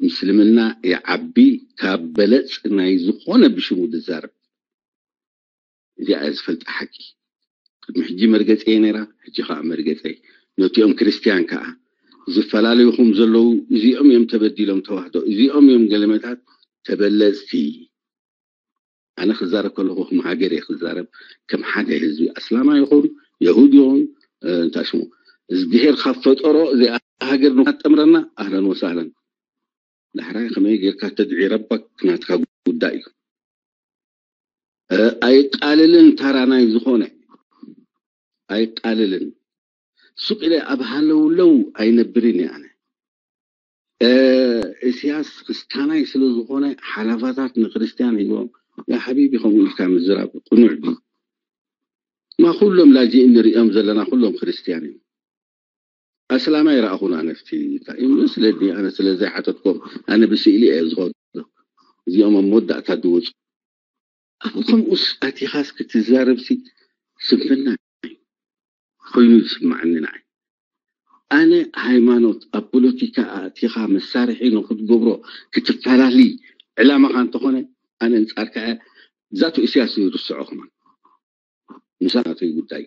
ምስልምና ይዓቢ ካብ በለፅ ናይ ዝኾነ ብሽሙ ዝዛረብ እዚኣ እያ ዝፈልጣ ሓቂ ቅድሚ ሕጂ መርገፂ እየ ነይራ ሕጂ ከዓ መርገፀይ ነቲኦም ክርስትያን ከዓ ዝፈላለዩኹም ዘለዉ እዚኦም እዮም ተበዲሎም ተዋህዶ እዚኦም እዮም ገለመታት ተበለፅቲ ኣነ ክዛረብ ከለኹ ከም ሃገር እየ ክዛረብ ከም ሓደ ህዝቢ ኣስላማ ይኹን የሁድ ይኹን እንታይ ሽሙ እግዚኣብሔር ካብ ፈጠሮ እዚኣ ሃገር ንካትጠምረና ኣህለን ወሳህለን ዳሕራይ ከመይ ጌርካ ተድዒረባ ናትካ ጉዳይ እዩ ኣይቃልልን ታራ ናይ ዝኾነ ኣይቃልልን ሱቅ ኢለ ኣብ ሃለውለው ኣይነብርን እየ ኣነ እስያስ ክስታናይ ስለ ዝኾነ ሓላፋታት ንክርስትያን ሂቦም ያ ሓቢቢ ከምኡ ኢልካ ምዝራብ ቅኑዕ ድዩ ማ ኩሎም ላጂ እንሪኦም ዘለና ኩሎም ክርስትያን እዮም ኣስላማይ ረኣኹን ኣነፍቲ እንታይ እዩ ስለኒ ኣነ ስለ ዘይሓተትኮም ኣነ ብስእሊ እየ ዝኸዶ እዚኦም ኣብ መወዳእታ ዝወፁ ኣብ ከምኡስ ኣቲኻስ ክትዛረብሲ ስንፍና ኮይኑ ዝስማዓኒ ንዓይ ኣነ ሃይማኖት ኣብ ፖለቲካ ኣእቲኻ መሳርሒ ንክትገብሮ ክትፈላለይ ዕላማኻ እንተኾነ ኣነ እንፃርካ ዛቱ እስያስ ይርስዖ ከማን ምሳናተይ ጉዳይ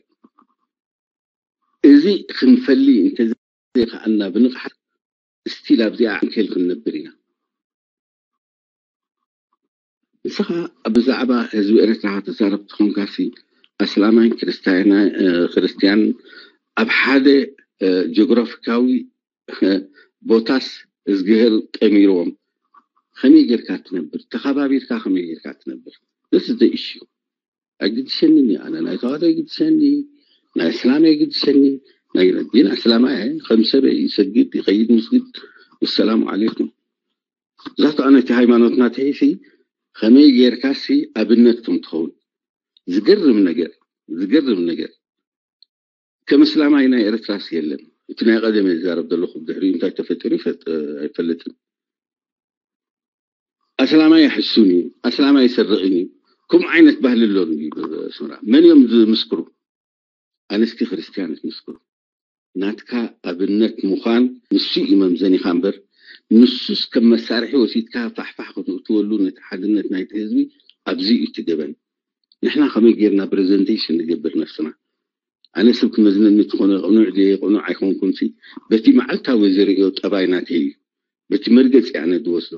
እዚ ክንፈሊ እንተዘይከኣልና ብንቕሓት ስቲል ኣብዚኣ ዓንኬል ክንነብር ኢና ንስኻ ብዛዕባ ህዝቢ ኤርትራ ተዛረብ ትኾንካሲ ኣስላማይን ክርስትያን ኣብ ሓደ ጂኦግራፊካዊ ቦታስ እዝግሄር ጠሚርዎም ከመይ ጌርካ ትነብር ተኸባቢርካ ከመይ ጌርካ ትነብር this is the issue ኣይግድሰንን እዩ ኣነ ናይ ተዋህዶ ይግድሰኒ ናይ እስላም ይግድሰኒ ናይ ረቢን ኣስላማ ከም ሰበ ይሰግድ ይኸይድ ምስግድ ወሰላሙ ዓለይኩም ዛቱ ኣነ እቲ ሃይማኖትና ተሂሲ ከመይ ጌርካሲ ኣብነት ከም ትኸውን ዝገርም ነገር ዝገርም ነገር ከም እስላማይ ናይ ኤርትራስ የለን እቲ ናይ ቀደም ዝዛረብ ዘለኹ ድሕሪኡ እንታይ ተፈጢሩ ኣይፈልጥን ኣስላማይ ይሕሱን እዩ ኣስላማይ ይሰርቕን እዩ ከምኡ ዓይነት ባህሊ ኣሎ ስምራ መን እዮም ዝምስክሩ ኣንስቲ ክርስትያን ምስክሩ ናትካ ኣብነት ምዃን ንሱ እዩ መምዘኒኻ እምበር ንሱስ ከም መሳርሒ ወሲድካ ፋሕፋሕ ክትእትወሉ ነቲ ሓድነት ናይቲ ህዝቢ ኣብዚ እዩ እቲ ገበን ንሕና ከመይ ጌርና ፕሬዘንቴሽን ንገብር ነፍስና ኣነ ሰብ ክመዝነኒ ትኾነ ቅኑዕ ድየ ቅኑዕ ኣይኮንኩን ሲ በቲ መዓልታዊ ዝርእዮ ጠባይ ናተይ እዩ በቲ መርገፂ ኣነ ዝወስዶ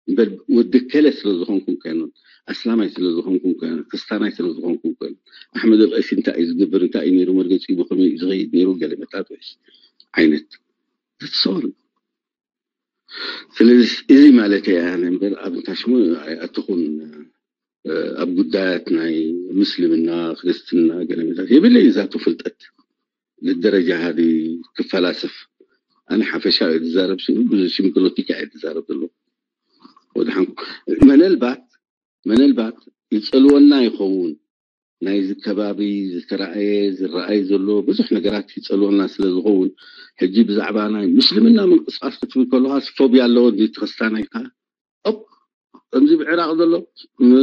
እምበር ወዲ ከለ ስለ ዝኾንኩ ኣይኮነን ኣስላማይ ስለ ዝኾንኩ ኣይኮነን ክስታናይ ስለ ዝኾንኩ ኣይኮነን ኣሕመድ ኣልቀይሲ እንታይ እዩ ዝገብር እንታይ እዩ ነይሩ መርገፂ ብኸመይ እዩ ዝኸይድ ነይሩ ገለ መጣጥሽ ዓይነት that's all ስለዚ እዚ ማለት እየ ኣነ እምበር ኣብ እንታሽሙ ኣይኣተኹን። ኣብ ጉዳያት ናይ ምስልምና፣ ክርስትና፣ ገለመታት የብለይ ዛቱ ፍልጠት ልደረጃ ሃዚ ክፈላስፍ። ኣነ ሓፈሻ እየ ዝዛረብ ሲሉ ብዙ ሽም ፖለቲካ እየ ዝዛረብ ዘሎ። ወድሓን መነልባት መነልባት ይጸልወና ይኸውን። ናይዚ ከባቢ ዝተራእየ ዝረኣይ ዘሎ ብዙሕ ነገራት ይጸልወና ስለ ዝኸውን፣ ሕጂ ብዛዕባ ናይ ምስልምና ምንቅስቃስ ክትብል ከለኻስ ፎብያ ኣለዎ እንዲ ክርስታን ኣይካ ኦፕ ከምዚ ብዕራቕ ዘሎ ም-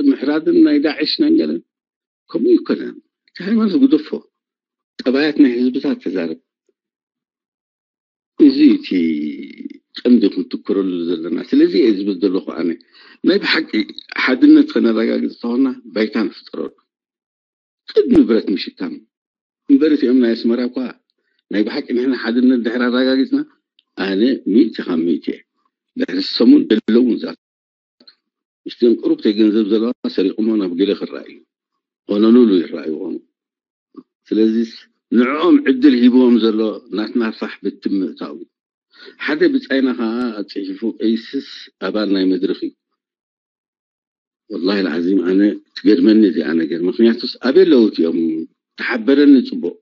ምሕራድን ናይ ዳዕሽ ናይ ገለን ከምኡ ይኮነን። እቲ ሃይማኖት ግደፎ። ጠባያት ናይ ህዝብታት ተዛረብ። እዚ እቲ ቀንዲ ክንትኩረሉ ዘለና። ስለዚ እየ ዝብል ዘለኹ ኣነ ናይ ብሓቂ ሓድነት ከነረጋግፅ ተኾና ባይታ ንፍጠረሉ ቅድሚ ብረት ምሽካም እምበር እቲኦም ናይ ኣስመራ እኳ ናይ ብሓቂ ንሕና ሓድነት ድሕር ኣረጋጊፅና ኣነ ሚእቲ ካብ ሚእቲ እየ። ድሕሪ ሰሙን ዘለውን ዛት ምስቲን ቅሩብተይ ገንዘብ ዘለዋ ሰሪቕሞ ናብ ገለ ክረኣዩ ሆኖሉሉ ይረኣዩ ኾኑ። ስለዚ ንዕኦም ዕድል ሂብዎም ዘሎ ናትና ፋሕ ብትም ምእታው ሓደ ብጻይና ከዓ ኣጽሒፉ ቀይስስ ኣባል ናይ መድረኽ እዩ። ወላሂ ልዓዚም ኣነ ትገድመኒ እዚኣ ነገር። ምክንያቱስ ኣበይ ኣለዉ እቲኦም? ተሓበረኒ ጽቡቕ።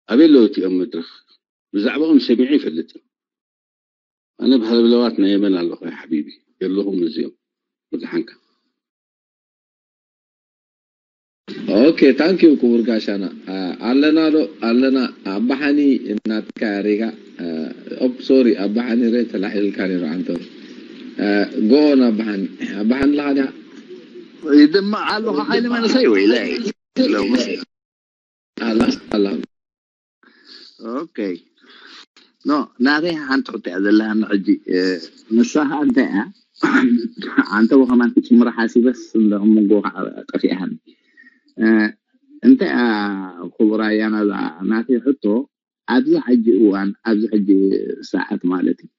ኣበይ ኣለዉ እቲኦም መድረኽ? ብዛዕባኦም ሰሚዐ ይፈልጥን። ኣነ ብሃለብለዋት ናይ የመን ኣለኹ ሓቢቢ። የለኹም እዚኦም። ብድሓንካ። ኦኬ ታንኪዩ ክቡር ጋሻና። ኣለና ዶ ኣለና? ኣባሓኒ እናትካ ሬጋ ኦፕ ሶሪ ኣባሓኒ ሬ ተላሒልካ ነይሩ ዓንተ ጎን ኣባሓኒ ኣባሓኒ ለኻ ዲኻ? ይድምዕ ኣለኹ ሓይሊ መንእሰይ ወይ ላይ ኣላ ኣላ ኦኬ ኖ ናተይ ሓንቲ ሕቶ እያ ዘለሃኒ ሕጂ ንሳ ከዓ እንታይ እያ ኣንተ ወኸማን ትጭምሮ ሓሲበስ እንደ መንጎ ከዓ ጠፊኣሃኒ እንታይ እያ ክቡር ኣያና እዛ ናተይ ሕቶ ኣብዚ ሕጂ እዋን ኣብዚ ሕጂ ሰዓት ማለት እዩ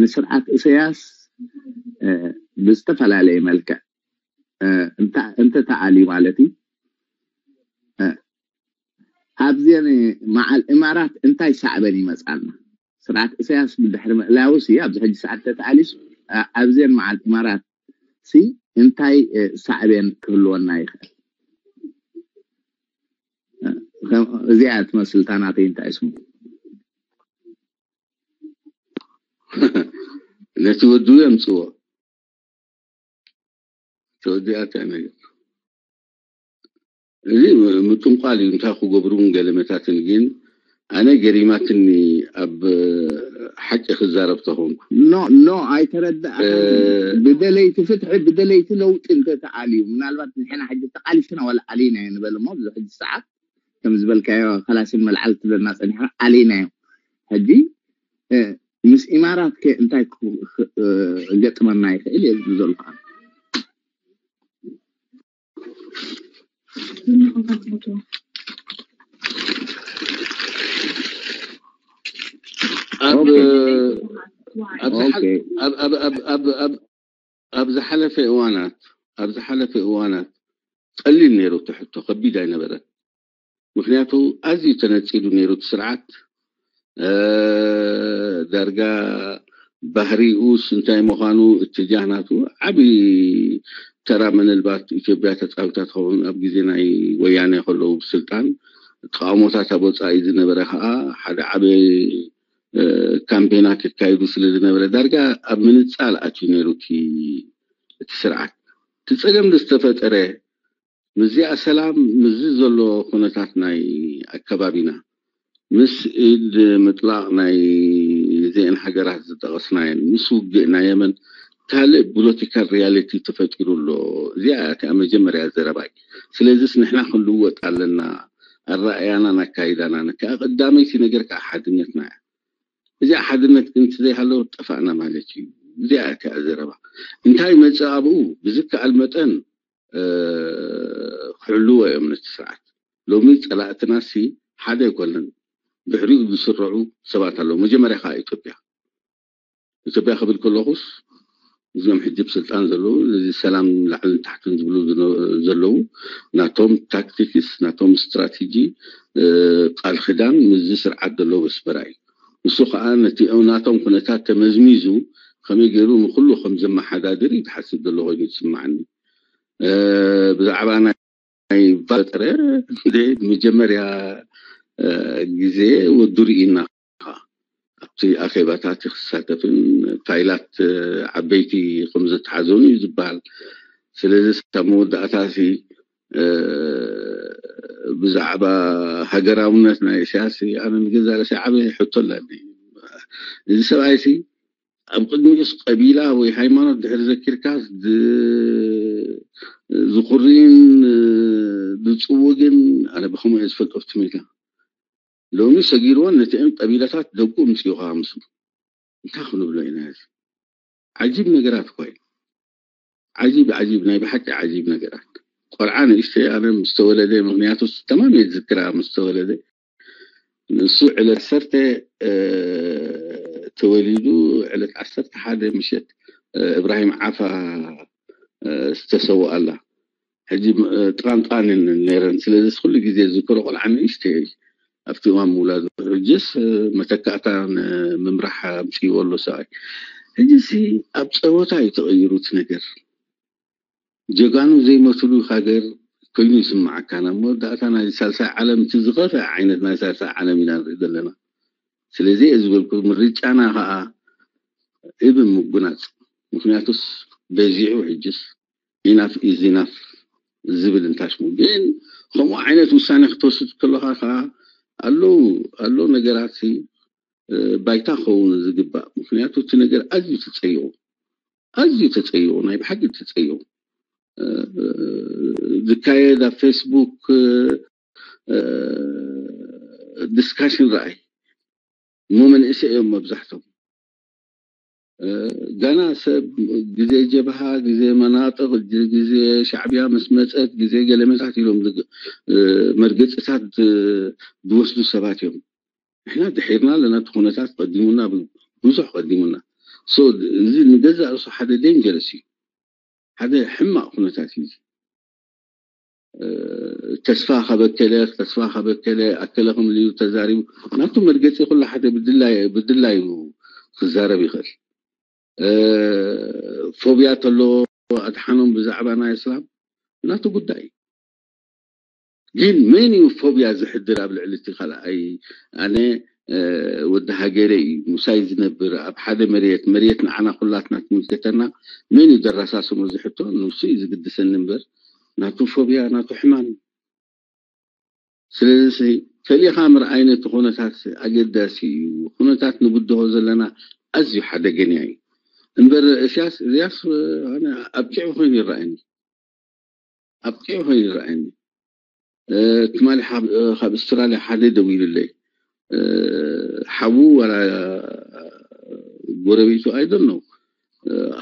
ንስርዓት እሰያስ ብዝተፈላለየ መልክዕ እንተ ተኣልዩ ማለት እዩ ኣብዘን መዓል እማራት እንታይ ሳዕበን ይመፃና ስርዓት እሰያስ ብድሕሪ ምእላውስ ኣብዚ ሕጂ ሰዓት ተተኣሊስ ኣብዘን መዓል እማራት ሲ እንታይ ሳዕቤን ክህልወና ይኽእል እዚኣ ትመስል እታ ናተይ እንታይ ስሙ ነቲ ወዱ የምፅዎ ተወዲኣታ ነገር እዚ ምጥንቋል እዩ እንታይ ክገብሩን ገለመታትን ግን ኣነ ገሪማትኒ ኣብ ሓቂ ክዛረብ ተኾንኩ ኖ ኖ ኣይተረዳእ ብደለይቲ ፍትሒ ብደለይቲ ለውጢ እንተተኣልዩ ምናልባት ንሕና ሕጂ ተቃሊስና ወላ ኣሊና ንበል እሞ ኣብዚ ሕጂ ሰዓት ከም ዝበልካዮ ከላሽን መልዓል ትብለና ፀኒሕና ኣሊናዮ ሕጂ ምስ ኢማራት ከ እንታይ ክገጥመና ይኽእል እየ ዝብሉ ዘለኹ ኣብ ኣብ ዝሓለፈ እዋናት ኣብ ዝሓለፈ እዋናት ቀሊል ነይሩ እቲ ሕቶ ከቢድ ኣይነበረን ምክንያቱ ኣዝዩ ተነፂሉ ነይሩ እቲ ስርዓት ዳርጋ ባህሪኡስ እንታይ ምዃኑ እትጃህ ናቱ ዓብዪ ተራ ምናልባት ኢትዮጵያ ተፃዊታ ትኸውን ኣብ ግዜ ናይ ወያነ ከለዉ ብስልጣን ተቃውሞታት ኣብ ወፃኢ ዝነበረ ከዓ ሓደ ዓበ ካምፔናት የካይዱ ስለ ዝነበረ ዳርጋ ኣብ ምንፃል ኣትዩ ነይሩ እቲ ስርዓት እቲ ፀገም ዝተፈጠረ ምስዚኣ ሰላም ምስዚ ዘሎ ኩነታት ናይ ኣከባቢና ምስ ኢድ ምጥላቕ ናይ እዚአን ሃገራት ዝጠቐስናየን ምስ ውግእ ናይ የመን ካልእ ፖለቲካል ሪያሊቲ ተፈጢሩ ኣሎ። እዚኣ እያ እቲኣ መጀመርያ ዘረባይ። ስለዚስ ንሕና ክንልወጥ ኣለና። ኣረኣእያናን ኣካይዳናን። እቲኣ ቀዳመይቲ ነገር ከዓ ሓድነትና እያ። እዚኣ ሓድነት ግን እንተዘይሃለወት ጠፋእና ማለት እዩ። እዚኣ እያ እቲኣ ዘረባ። እንታይ ይመፅእ ኣብኡ ብዝከኣል መጠን ክሕልዎ እዮም ነቲ ስርዓት። ሎሚ ፀላእትናሲ ሓደ ኣይኮነን፣ ድሕሪኡ ዝስርዑ ሰባት ኣለዉ። መጀመርያ ከዓ ኢትዮጵያ። ኢትዮጵያ ክብል ከለኹስ እዞም ሕጂ ብስልጣን ዘለዉ ነዚ ሰላም ላዕልን ታሕትን ዝብሉ ዘለዉ ናቶም ታክቲክስ ናቶም ስትራቴጂ ቃል ክዳን ምስዚ ስርዓት ዘለዉ ኣስመራ እዩ። ንሱ ከዓ ነቲ ናቶም ኩነታት ተመዝሚዙ ከመይ ገይሩ ንኩሉ ከም ዘመሓዳድር እዩ ዝሓስብ ዘሎ ኮይኑ ዝስማዓኒ። ብዛዕባ ናይ ባጥረ መጀመርያ ግዜ ወዱ ርኢና ኣብቲ ኣኼባታት ክሳተፍን ፋይላት ዓበይቲ ከም ዝተሓዘኑ እዩ ዝበሃል። ስለዚ ካብ መወዳእታ ብዛዕባ ሃገራውነት ናይ እስያስ ኣነ ንገዛ ርእሲ ዓበ ሕቶ ኣለኒ። እዚ ሰብኣይ ሲ ኣብ ቅድሚኡስ ቀቢላ ወይ ሃይማኖት ድሕሪ ዘኪርካ ዝኩርን ዝፅውግን ኣነ ብከምኡ እየ ዝፈልጦ ኣብቲ ሜዳ። ሎሚ ሰጊርዎን ነቲአን ቀቢላታት ደቁ ምፅኡ ከዓ ምስሉ እንታይ ክንብሎ ኢና? እዚ ዓጂብ ነገራት እኳ እዩ። ዓጂብ ዓጂብ ናይ ብሓቂ ዓጂብ ነገራት። ቆልዓ ንእሽተይ ኣነ ምስተወለደ፣ ምክንያቱ ተማም እየ ዝዝክራ ምስተወለደ። ንሱ ዕለት ዓሰርተ ተወሊዱ ዕለት ዓሰርተ ሓደ ምሸት እብራሂም ዓፋ ዝተሰውኣላ ሕጂ ጥቃንቃን ነረን። ስለዚ ኩሉ ግዜ ዝክሮ ቆልዓ ንእሽተይ ኣብቲ እዋን ምውላዱ ሕጅስ መተካእታ ንምምራሕ ኣምፅዎ ኣሎ ሰብኣይ። ሕጂ ሲ ኣብ ፀወታ እዩ ተቐይሩ እቲ ነገር። ጀጋኑ ዘይመትሉ ሃገር ኮይኑ ይስምዓካ። ናብ መወዳእታ ናይ ሳልሳይ ዓለም እቲ ዝኸፍአ ዓይነት ናይ ሳልሳይ ዓለም ኢና ንርኢ ዘለና። ስለዚ እየ ዝበልኩ ምርጫና ከዓ እብ ምጉናፅ። ምክንያቱስ በዚዑ ሕጅስ ኢናፍ ኢዝ ኢናፍ ዝብል እንታሽሙ ግን ከምኡ ዓይነት ውሳኔ ክትወስድ ከለካ ከዓ ኣለዉ ኣለዉ ነገራት ባይታ ክኸውን ዝግባእ። ምክንያቱ እቲ ነገር ኣዝዩ ተፀይቑ ኣዝዩ ተፀይቑ ናይ ብሓቂ ተፀይቑ ዝካየድ ኣብ ፌስቡክ ዲስካሽን ረኣይ እሞ መንእሰይ እዮም መብዛሕቶም። ገና ሰብ ግዜ ጀብሃ፣ ግዜ መናጥቕ፣ ግዜ ሻዕብያ ምስ መፀት፣ ግዜ ገለመታት ኢሎም መርገፅታት ዝወስዱ ሰባት እዮም። ንሕና ድሒርና ኣለና። እቲ ኩነታት ቀዲሙና፣ ብዙሕ ቀዲሙና። ሶ እዚ ንገዛእ ርእሱ ሓደ ዴንጀረስ እዩ። ሓደ ሕማቕ ኩነታት እዩ። ተስፋ ከበከለ ተስፋ ከበከለ ኣከለ ከምልዩ ተዛሪቡ ናቱ መርገፂ ኩሉ ሓደ ብድላዩ ክዛረብ ይኽእል። ፎብያ ተሎ ኣድሓኖም ብዛዕባ ናይ እስላም ናቱ ጉዳይ። ግን መን እዩ ፎብያ ዝሕድር ኣብ ልዕሊ እቲ ካልኣይ? ኣነ ወዲ ሃገረ እዩ ምሳይ ዝነብር ኣብ ሓደ መሬት መሬት ንዓና ኩላትና ትምልከተና። መን እዩ ደራሳስሞ ዝሕቶ ንሱ እዩ ዝግድሰኒ እምበር ናቱ ፎብያ ናቱ ሕማም እዩ። ስለዚ ፈሊኻ ምርኣይ ነቲ ኩነታት ኣገዳሲ እዩ። ኩነታት ንብድሆ ዘለና ኣዝዩ ሓደገኛ እዩ። እምበር እስያስ እዚያስ ኣነ ኣብቂዑ ኮይኑ ይረኣየኒ ኣብቂዑ ኮይኑ ይረኣየኒ። ትማሊ ካብ ኣስትራልያ ሓደ ደዊሉለይ ሓዉ ወላ ጎረቤቱ ኣይደል ነው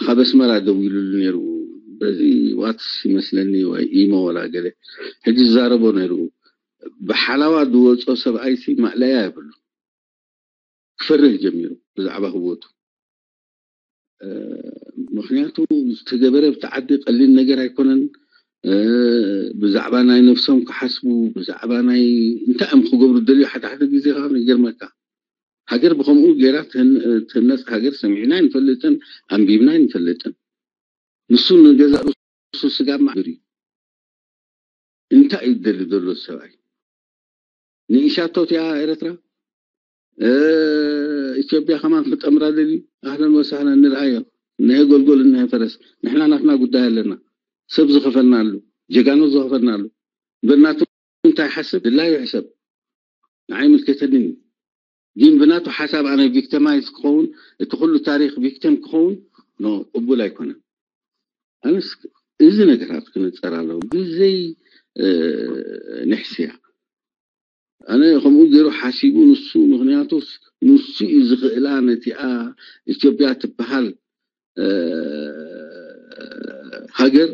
ካብ ኣስመራ ደዊሉሉ ነይሩ። በዚ ዋትስ ይመስለኒ ወይ ኢሞ ወላ ገለ ሕጂ ዝዛረቦ ነይሩ። ብሓላዋ ዝወፆ ሰብኣይሲ ማእለያ የብሉ። ክፈርህ ጀሚሩ ብዛዕባ ህወቱ። ምክንያቱ ዝተገበረ ብቲ ዓዲ ቀሊል ነገር ኣይኮነን። ብዛዕባ ናይ ነፍሶም ክሓስቡ ብዛዕባ ናይ እንታይ እዮም ክገብሩ ደልዩ ሓደ ሓደ ግዜ ከዓ ይገርመካ። ሃገር ብከምኡ ገይራ ትህነፅ ሃገር ሰሚዕና ይንፈልጥን ኣንቢብና ይንፈልጥን። ንሱ ንገዛእ ርእሱ ስጋብ ማዕብር እዩ። እንታይ እዩ ደሊ ዘሎ ሰብኣይ? ንኢሻቶ እቲኣ ኤረትራ ኢትዮጵያ ከማን ክጠምራ ደልዩ ኣህለን ወሳህለን ንርኣዮ። እነሀ ጎልጎል እነሀ ፈረስ ንሕና ናትና ጉዳይ ኣለና። ሰብ ዝኸፈልናሉ ጀጋኑ ዝኸፈልናሉ በናቱ እንታይ ሓስብ ድላዩ ሕሰብ ንዓይ ምልከተንን እዩ። ግን ብናቱ ሓሳብ ኣነ ቪክተማይዝ ክኸውን እቲ ኩሉ ታሪክ ቪክተም ክኸውን ኖ ቅቡል ኣይኮነን። ኣነስ እዚ ነገራት ክነፀር ኣለዎ ብዘይ ንሕስያ። ኣነ ከምኡ ገይሩ ሓሲቡ ንሱ ምክንያቱ ንሱ እዩ ዝኽእላ ነቲኣ ኢትዮጵያ ትበሃል ሃገር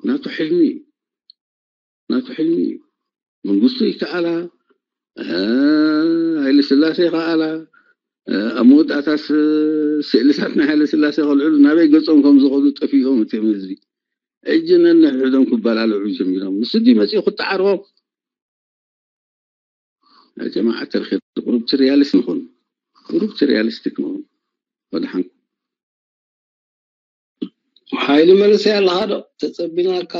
ናቱ ሕልሚ እዩ። ናቱ ሕልሚ እዩ። መንግስቱ ይከኣላ፣ ሃይለ ስላሴ ይከኣላ። ኣብ መወዳእታስ ስእልታት ናይ ሃይለ ስላሴ ከልዕሉ ናበይ ገፆም ከም ዝኸዱ ጠፊኦም እትም ህዝቢ። እጅ ነንሕድሕዶም ክበላልዑ ጀሚሮም። ንሱ ድዩ መፂኡ ክጠዓርቦም? ጀማዓ ተርኺ ቁሩብ ሪያሊስት ንኹን። ቁሩብ ሪያሊስቲክ ነው። ወድሓን ሓይሊ መንእሰይ ኣለኻ ዶ? ተጸቢናካ።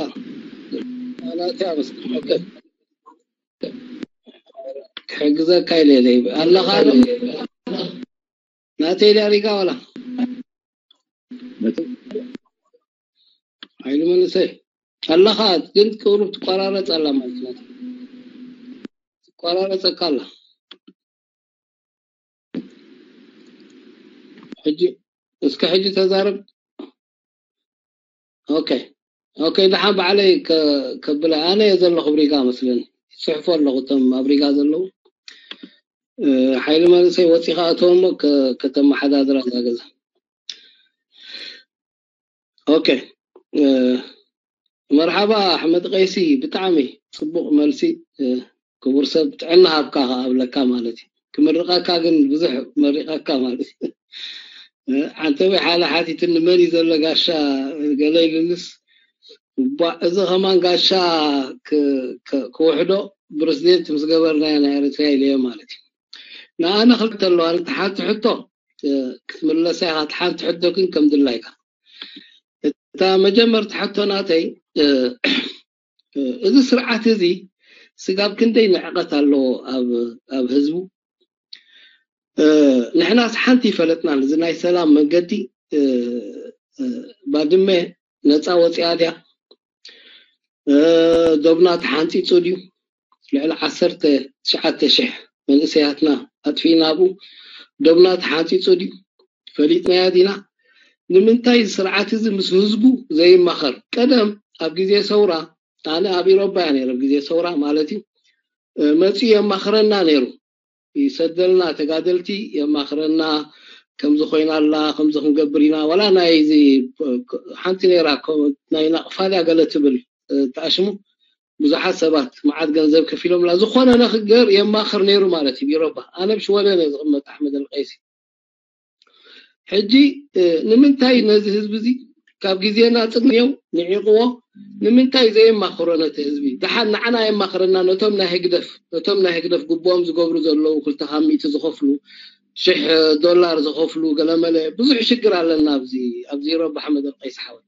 ኣናትያ መስል። ኦኬ። ክሕግዘካ ኢለ ኢለ። ኣለኻ ዶ? ናተይ ዳሪጋ ዋላ? ሓይሊ መንእሰይ። ኣለኻ፣ ግን ቁሩብ ትቆራረጽ ኣላ ማለት ናት። ትቆራረጸካ ኣላ። ሕጂ፣ እስከ ሕጂ ተዛረብ። ኦኬ። ኦኬ፣ ደሓን ባዕለይ ከ-፣ ከብላ። ኣነ እየ ዘለኹ ብሪጋ መስለኒ። ይጽሕፉ ኣለኹ እቶም ኣብ ሪጋ ዘለዉ። እ፣ ሓይሊ መንእሰይ ወጺኻ እቶም ከ-፣ ከተመሓዳድራ እዛ ገዛ። ኦኬ። እ፣ መርሓባ ኣሕመድ ቀይሲ፣ ብጣዕሚ ጽቡቕ መልሲ። እ፣ ክቡር ሰብ፣ ጥዕና ሃብካ ከኣ ኣብለካ ማለት እዩ። ክምርቐካ ግን ብዙሕ መሪቐካ ማለት እዩ። እ፣ ዓንተወይ ሓለ ሓቲትኒ፣ መን እዩ ዘሎ ጋሻ ገለ ኢሉንስ፣ እባ እዚ ከማን ጋሻ ክ-፣ ክ-፣ ክውሕዶ ፕረዚደንት ምስ ገበርናዮ ናይ ኤርትራ ኢለዮ ማለት እዩ። ንኣነ ክልተ ኣለዋ። እቲ ሓንቲ ሕቶ፣ እ፣ ክትምለሳ ኢኻ። እቲ ሓንቲ ሕቶ ግን ከም ድላይካ። እታ መጀመርታ ሕቶ ናተይ፣ እ፣ እ፣ እዚ ስርዓት እዚ ስጋብ ክንደይ ንዕቐት ኣለዎ ኣብ፣ ኣብ ህዝቡ? እ፣ ንሕናስ ሓንቲ ይፈለጥናን። እዚ ናይ ሰላም መንገዲ፣ እ፣ እ፣ ባድመ ነፃ ወፂኣ ድያ? እ፣ ዶብና ተሓንፂፁ ድዩ? ልዕሊ ዓሰርተ ትሽዓተ ሽሕ መንእሰያትና ኣጥፊእና ኣብኡ። ዶብና ተሓንፂፁ ድዩ? ፈሊጥናዮ ዲና? ንምንታይ እዚ ስርዓት እዚ ምስ ህዝቡ ዘይማኸር? ቀደም ኣብ ግዜ ሰውራ፣ ኣነ ኣብ ኢሮባ እያ ነይረ፣ ኣብ ግዜ ሰውራ ማለት እዩ፣ እ፣ መፂኡ የማኽረና ነይሩ። ይሰደልና፣ ተጋደልቲ የማኽረና፣ ከምዚ ኮይና ኣላ፣ ከምዚ ክንገብር ኢና። ዋላ ናይ እዚ፣ እ፣ ሓንቲ ነይራ፣ ኮ-፣ ናይ ናቕፋ ድያ ገለ ትብል፣ እ፣ ተኣሽሙ ብዙሓት ሰባት መዓት ገንዘብ ከፊሎምላ። ዝኾነ ንኽገር የማኽር ነይሩ ማለት እዩ። ኢሮባ፣ ኣነ ኣብ ሽወደን እየ ዝቕመጥ፣ ኣሕመድ ኣልቀይሲ። ሕጂ፣ እ፣ ንምንታይ ነዚ ህዝቢ እዚ ካብ ግዜና ጽግንየው ንዒቕዎ፣ ንምንታይ ዘየማኽሮ ነቲ ህዝቢ? ደሓን ንዓና የማኽረና፣ ነቶም ናይ ህግደፍ፣ ነቶም ናይ ህግደፍ ግቡኦም ዝገብሩ ዘለዉ፣ ክልተ ካብ ሚእቲ ዝኸፍሉ፣ ሽሕ ዶላር ዝኸፍሉ፣ ገለመለ፣ ብዙሕ ሽግር ኣለና ኣብዚ፣ ኣብዚ ኢሮባ፣ ኣሕመድ ኣልቀይሲ ሓወይ።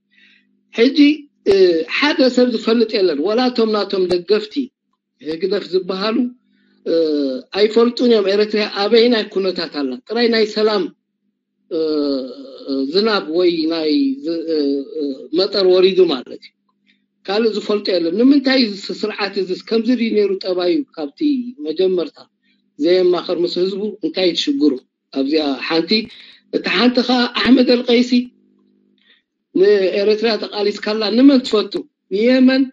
ሕጂ፣ እ፣ ሓደ ሰብ ዝፈልጥ የለን፣ ወላ እቶም ናቶም ደገፍቲ ህግደፍ ዝበሃሉ፣ እ፣ ኣይፈልጡን እዮም ኤርትራ ኣበይናይ ኩነታት ኣላ። ጥራይ ናይ ሰላም፣ እ፣ እ፣ ዝናብ ወይ ናይ ዝ-፣ እ፣ እ፣ መጠር ወሪዱ ማለት እዩ። ካልእ ዝፈልጦ የለን። ንምንታይ እዚ ስርዓት እዚ ከምዚ ድዩ ነይሩ ጠባዩ ካብቲ መጀመርታ ዘየማኸር ምስ ህዝቡ? እንታይ ትሽግሩ? ኣብዚኣ ሓንቲ፣ እቲ ሓንቲ ኸዓ ኣሕመድ ኣልቀይሲ ንኤርትራ ተቓሊስካላ ንመን ትፈቱ? ንየመን፣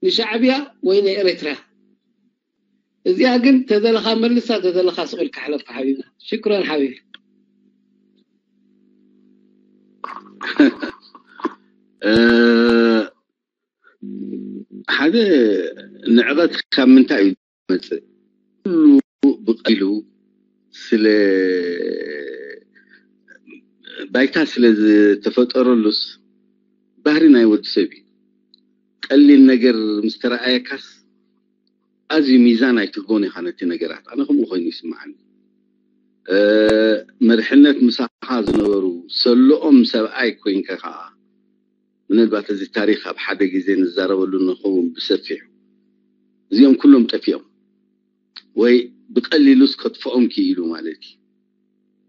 ንሻዕብያ ወይ ንኤርትርያ? እዚኣ ግን ተደለኻ መልሳ፣ ተደለኻ ስቕ ኢልካ ሕለፋ ሓቢብና። ሽክረን ሓቢቢ። እ፣ ሓደ ንዕቐት ካብ ምንታይ እዩ ዝመጽእ? ኩሉ ብቐሊሉ ስለ ባይታ ስለ ዝተፈጠረሉስ ባህሪ ናይ ወዲ ሰብ እዩ። ቀሊል ነገር ምስ ተረኣየካስ ኣዝዩ ሚዛን ኣይትህቦን ኢኻ ነቲ ነገራት። ኣነ ከምኡ ኮይኑ ይስምዓኒ። እ፣ መሪሕነት ምሳኻ ዝነበሩ ሰለኦም ሰብኣይ ኮይንካ ከዓ ምናልባት እዚ ታሪኽ ኣብ ሓደ ግዜ ንዛረበሉ ንኸውን ብሰፊሑ። እዚኦም ኩሎም ጠፊኦም ወይ ብቐሊሉስ ከጥፍኦም ክኢሉ ማለት እዩ።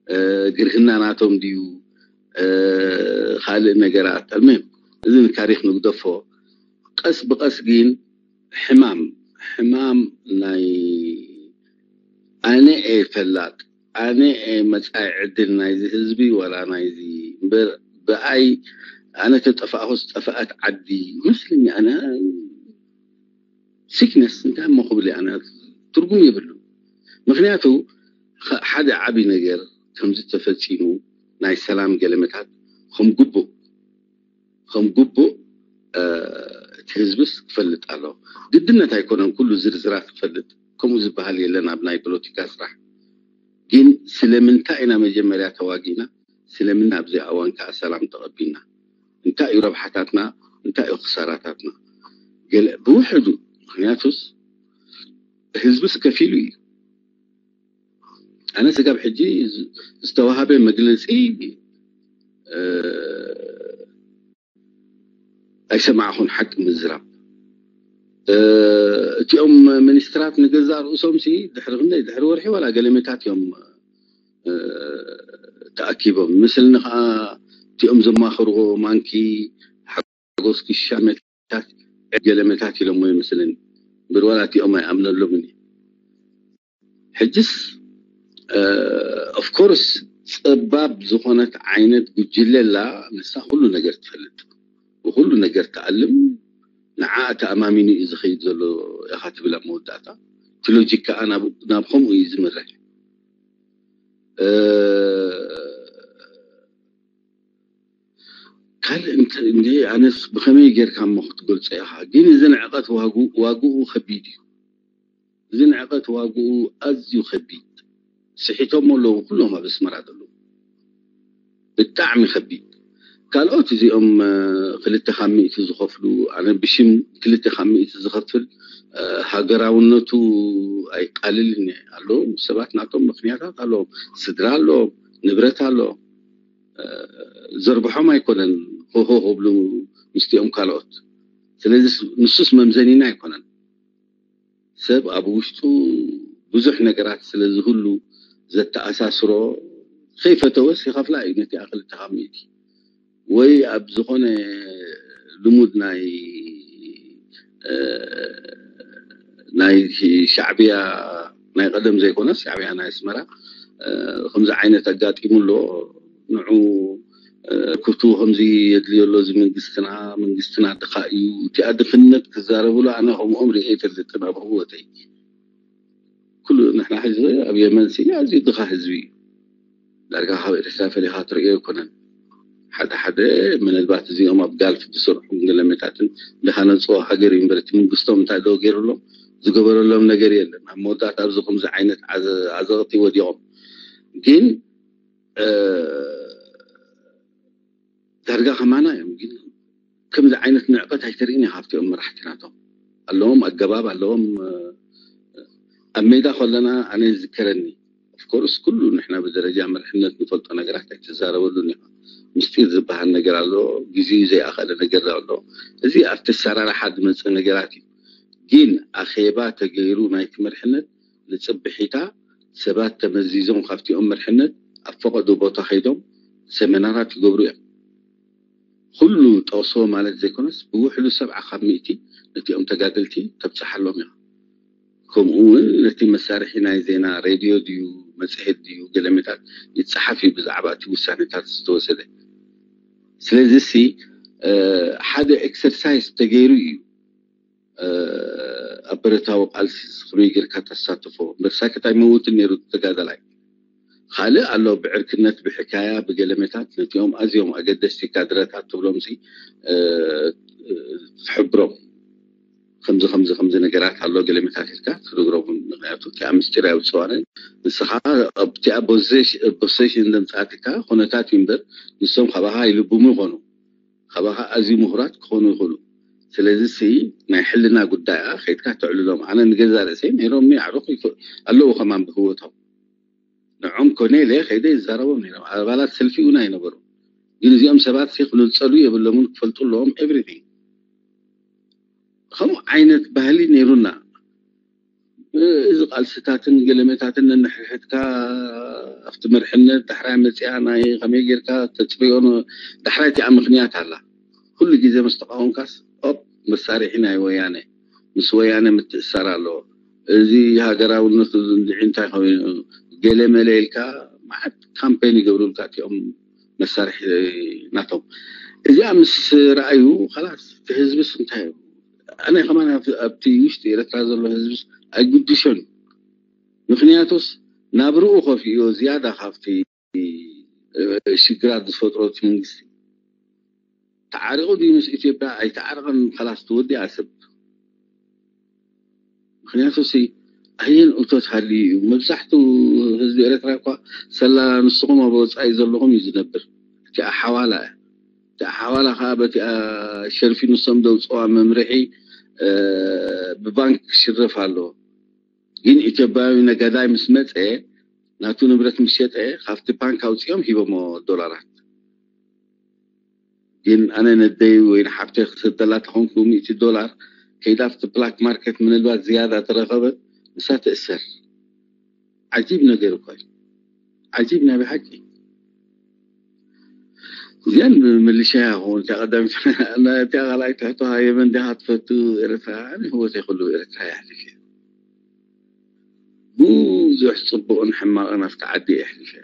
እ፣ ግርህና ናቶም ድዩ፣ እ፣ ካልእ ነገራት? ኣልሙሂም እዚ ንታሪኽ ንግደፎ። ቀስ ብቐስ ግን ሕማም፣ ሕማም ናይ ኣነ እየ ፈላጥ፣ ኣነ እየ መጻኢ ዕድል ናይዚ ህዝቢ ወላ ናይዚ እምበር ብኣይ ኣነ ተጠፋእኹስ ጠፍኣት ዓዲ ይመስለኒ። ኣነ ሲክነስ እንታይ እሞ ክብል እየ ኣነ? ትርጉም የብሉን። ምኽንያቱ ኸ-፣ ሓደ ዓቢ ነገር ከምዚ ተፈጺሙ ናይ ሰላም ገለመታት ከም ግቡእ፣ ከም ግቡእ፣ እ፣ እቲ ህዝብስ ክፈልጥ ኣለዎ። ግድነት ኣይኮነን ኩሉ ዝርዝራት ክፈልጥ፣ ከምኡ ዝበሃል የለን ኣብ ናይ ፖለቲካ ስራሕ። ግን ስለምንታይ ኢና መጀመርያ ተዋጊእና? ስለምን ኣብዚ እዋን ከኣ ሰላም ተቐቢልና? እንታይ እዩ ረብሓታትና? እንታይ እዩ ክሳራታትና? ገለ ብውሕዱ፣ ምኽንያቱስ ህዝብስ ከፊሉ እዩ። ኣነ ስጋብ ሕጂ ዝተዋሃበ መግለፂ ኣይሰማዕኹን። ሓቂ ምዝራብ እቲኦም ሚኒስትራት ንገዛእ ርእሶም ሲ ድሕሪ ክንደይ ድሕሪ ወርሒ ዋላ ገለመታት እዮም ተኣኪቦም። ምስልኒ ከዓ እቲኦም ዘማኽርዎ ማንኪ ሓጎስ ክሻመታት ገለመታት ኢሎሞ ይመስለኒ። ብርዋላ እቲኦም ኣይኣምነሎምን። ሕጅስ ኦፍኮርስ ፀባብ ዝኾነት ዓይነት ጉጅለ ኣላ። ንሳ ኩሉ ነገር ትፈልጥ፣ ብኩሉ ነገር ትኣልም፣ ንዓ ተኣማሚኑ እዩ ዝኸይድ ዘሎ ኢኻ ትብል ኣብ መወዳእታ። እቲ ሎጂክ ከዓ ናብ ከምኡ እዩ ዝምርሕ። ካልእ እንተ ኣነስ ብኸመይ ጌርካ እሞ ክትገልፆ ኢኻ? ግን እዚ ንዕቐት ዋግኡ ከቢድ እዩ። እዚ ንዕቐት ዋግኡ ኣዝዩ ከቢድ። ስሒቶም ኣለዉ ኩሎም ኣብ ኣስመራ ዘለዉ። ብጣዕሚ ከቢድ። ካልኦት እዚኦም ክልተ ካብ ሚእቲ ዝኸፍሉ፣ ኣነ ብሽም ክልተ ካብ ሚእቲ ዝኸፍል ሃገራውነቱ ኣይቃልልን ኣሎ። ሰባት ናቶም ምኽንያታት ኣለዎም። ስድራ ኣለዎም፣ ንብረት ኣለዎም። ዘርብሖም ኣይኮነን ሆሆ ክብሉ ምስቲኦም ካልኦት። ስለዚ ንሱስ መምዘኒና ኣይኮነን። ሰብ ኣብ ውሽጡ ብዙሕ ነገራት ስለ ዝህሉ ዘተኣሳስሮ ከይፈተወስ ይኸፍላ እዩ ነቲ ኣኽልተ ካብ ሚእቲ ወይ ኣብ ዝኾነ ልሙድ ናይ ናይ ሻዕብያ ናይ ቀደም ዘይኮነስ ሻዕብያ ናይ ኣስመራ ከምዚ ዓይነት ኣጋጢሙ ኣሎ። ንዑ ኩቱ ከምዚ የድልዮ ኣሎ እዚ መንግስትና፣ መንግስትና ድኻ እዩ። እቲኣ ድኽነት ክዛረብሉ ኣነ ከምኦም ርኤ ኣይፈልጥን ኣብ ህወተይ። ኩሉ ንሕና ሕዚ ኣብ የመን ሲ ኣዝዩ ድኻ ህዝቢ እዩ። ዳርጋ ካብ ኤርትራ ፈሊኻ ትርእዮ ኣይኮነን። ሓደ ሓደ ምናልባት እዚኦም ኣብ ጋልፍ ዝሰርሑ ገለመታትን ዝሃነፅዎ ሃገር እዩ እምበር እቲ መንግስቶም እንታይ ዶ ገይሩሎም ዝገበረሎም ነገር የለን። ኣብ መወዳእታ ኣብዚ ከምዚ ዓይነት ዓዘቕቲ ወዲቖም ግን ዳርጋ ከማና እዮም። ግን ከምዚ ዓይነት ንዕቀት ኣይተርእን ኢኻ ኣብቲኦም መራሕቲ ናቶም ኣለዎም ኣገባብ ኣለዎም። ኣብ ሜዳ ከለና ኣነ ዝዝከረኒ ኦፍኮርስ ኩሉ ንሕና ብደረጃ መርሕነት ንፈልጦ ነገራት ኣይትዛረበሉን ኢኻ። ምስጢር ዝበሃል ነገር ኣሎ። ግዜኡ ዘይኣኸለ ነገር ኣሎ። እዚ ኣብቲ ኣሰራርሓ ዝመፅእ ነገራት እዩ። ግን ኣኼባ ተገይሩ ናይቲ መርሕነት ንፅብሒታ ሰባት ተመዚዞም ካብቲኦም መርሕነት ኣብ ፈቐዶ ቦታ ከይዶም ሰመናራት ይገብሩ እዮም። ኩሉ ጠቕሶ ማለት ዘይኮነስ ብውሕዱ ሰብዓ ካብ ሚእቲ ነቲኦም ተጋደልቲ ተብፅሓሎም ኢኻ። ከምኡ እውን ነቲ መሳርሒ ናይ ዜና ሬድዮ ድዩ መፅሄት ድዩ ገለመታት ይፀሓፍ እዩ ብዛዕባ እቲ ውሳኔታት ዝተወሰደ። ስለዚ ሲ ሓደ ኤክሰርሳይዝ ተገይሩ እዩ ኣብ ብረታዊ ቃልሲ ከመይ ጌርካ ተሳትፎ እምበር ሳክት ኣይመውትን ነይሩ ተጋዳላይ። ካልእ ኣሎ ብዕርክነት ብሕካያ ብገለመታት ነቲኦም ኣዝዮም ኣገደስቲ ካድረታት ትብሎም ሲ ትሕብሮም ከምዚ ከምዚ ከምዚ ነገራት ኣሎ ገለመታት ኢልካ ትነግሮም። ምክንያቱ እቲኣ ምስጢር ኣይውፅዋንን ንስኻ ኣብቲኣ ፖሴሽን ዘምፃኣትካ ኩነታት እዩ እምበር ንሶም ካባኻ ይልብሙ ይኾኑ። ካባኻ ኣዝዩ ምሁራት ክኾኑ ይኽእሉ። ስለዚ ሲ ናይ ሕልና ጉዳይ ኣ ከይድካ ተዕልሎም። ኣነ ንገዛ ርእሰይ ነይሮም ኣዕሩኽ ኣለዉ ከማን ብህወቶም ንዖም ኮነ ኢለ ከይደ ይዛረቦም ነይሮም። ኣባላት ሰልፊ እውን ኣይነበሩ። ግን እዚኦም ሰባት ሲ ክነፀሉ የብሎምን ክፈልጡ ኣለዎም ኤቭሪቲንግ። ከምኡ ዓይነት ባህሊ ነይሩና። እዚ ቃልስታትን ገለመታትን ነንሕድሕድካ ኣብቲ መርሕነት ዳሕራይ መፅያ ናይ ከመይ ጌርካ ተፅርዮ ዳሕራይ እቲኣ ምክንያት ኣላ። ኩሉ ግዜ ምስ ተቃወምካስ ኦፕ መሳርሒ ናይ ወያነ ምስ ወያነ ምትእሳር ኣለዎ። እዚ ሃገራውነት እንድዒ እንታይ ኮይኑ ገለ መለ ኢልካ መዓት ካምፔን ይገብሩልካ እቲኦም መሳርሒ ናቶም። እዚኣ ምስ ረኣዩ ላስ እቲ ህዝብስ እንታይ እዩ ኣነ ከማን ኣብቲ ውሽጢ ኤረትራ ዘሎ ህዝብስ ኣይጉድሾን። ምክንያቱስ ናብርኡ ከፍእዮ ዝያዳ ካብቲ ሽግራት ዝፈጥሮ እቲ መንግስቲ ተዓሪቑ ድዩ ምስ ኢትዮጵያ ኣይተዓረቐን ላስ ትወዲኣ ሰብ። ምክንያቱ ሲ ኣየን እቶት ሃልዩ እዩ። መብዛሕትኡ ህዝቢ ኤረትራ እኳ ሰላ ንስኹም ኣብ ወፃኢ ዘለኹም እዩ ዝነብር። እቲኣ ሓዋላ እያ። እቲኣ ሓዋላ ከዓ በቲኣ ሸርፊ ንሶም ዘውፅዋ መምርሒ ብባንክ ክሽረፍ ኣለዎ። ግን ኢትዮጵያዊ ነጋዳይ ምስ መፀ ናቱ ንብረት ምስ ሸጠ ካብቲ ባንክ ኣውፅኦም ሂቦሞ ዶላራት። ግን ኣነ ነደይ ወይ ንሓፍተይ ክሰደላ ተኾንኩ ሚእቲ ዶላር ከይዳ ኣብቲ ብላክ ማርኬት ምናልባት ዝያዳ ተረኸበ ንሳ ትእሰር። ዓጂብ ነገር እኮ እዩ። ዓጂብ ናይ ብሓቂ። እዚኣን ምልሻ ይኸውን እቲኣ ቀዳሚት እቲኣ ካልኣይ ትሕቶ የመን ዲኻ ትፈቱ ኤርትራ ኣነ ህወተይ ኩሉ ኤርትራ ይሕልፍ እዩ። ብዙሕ ፅቡቕን ሕማቕን ኣብቲ ዓዲ የሕልፍ እየ።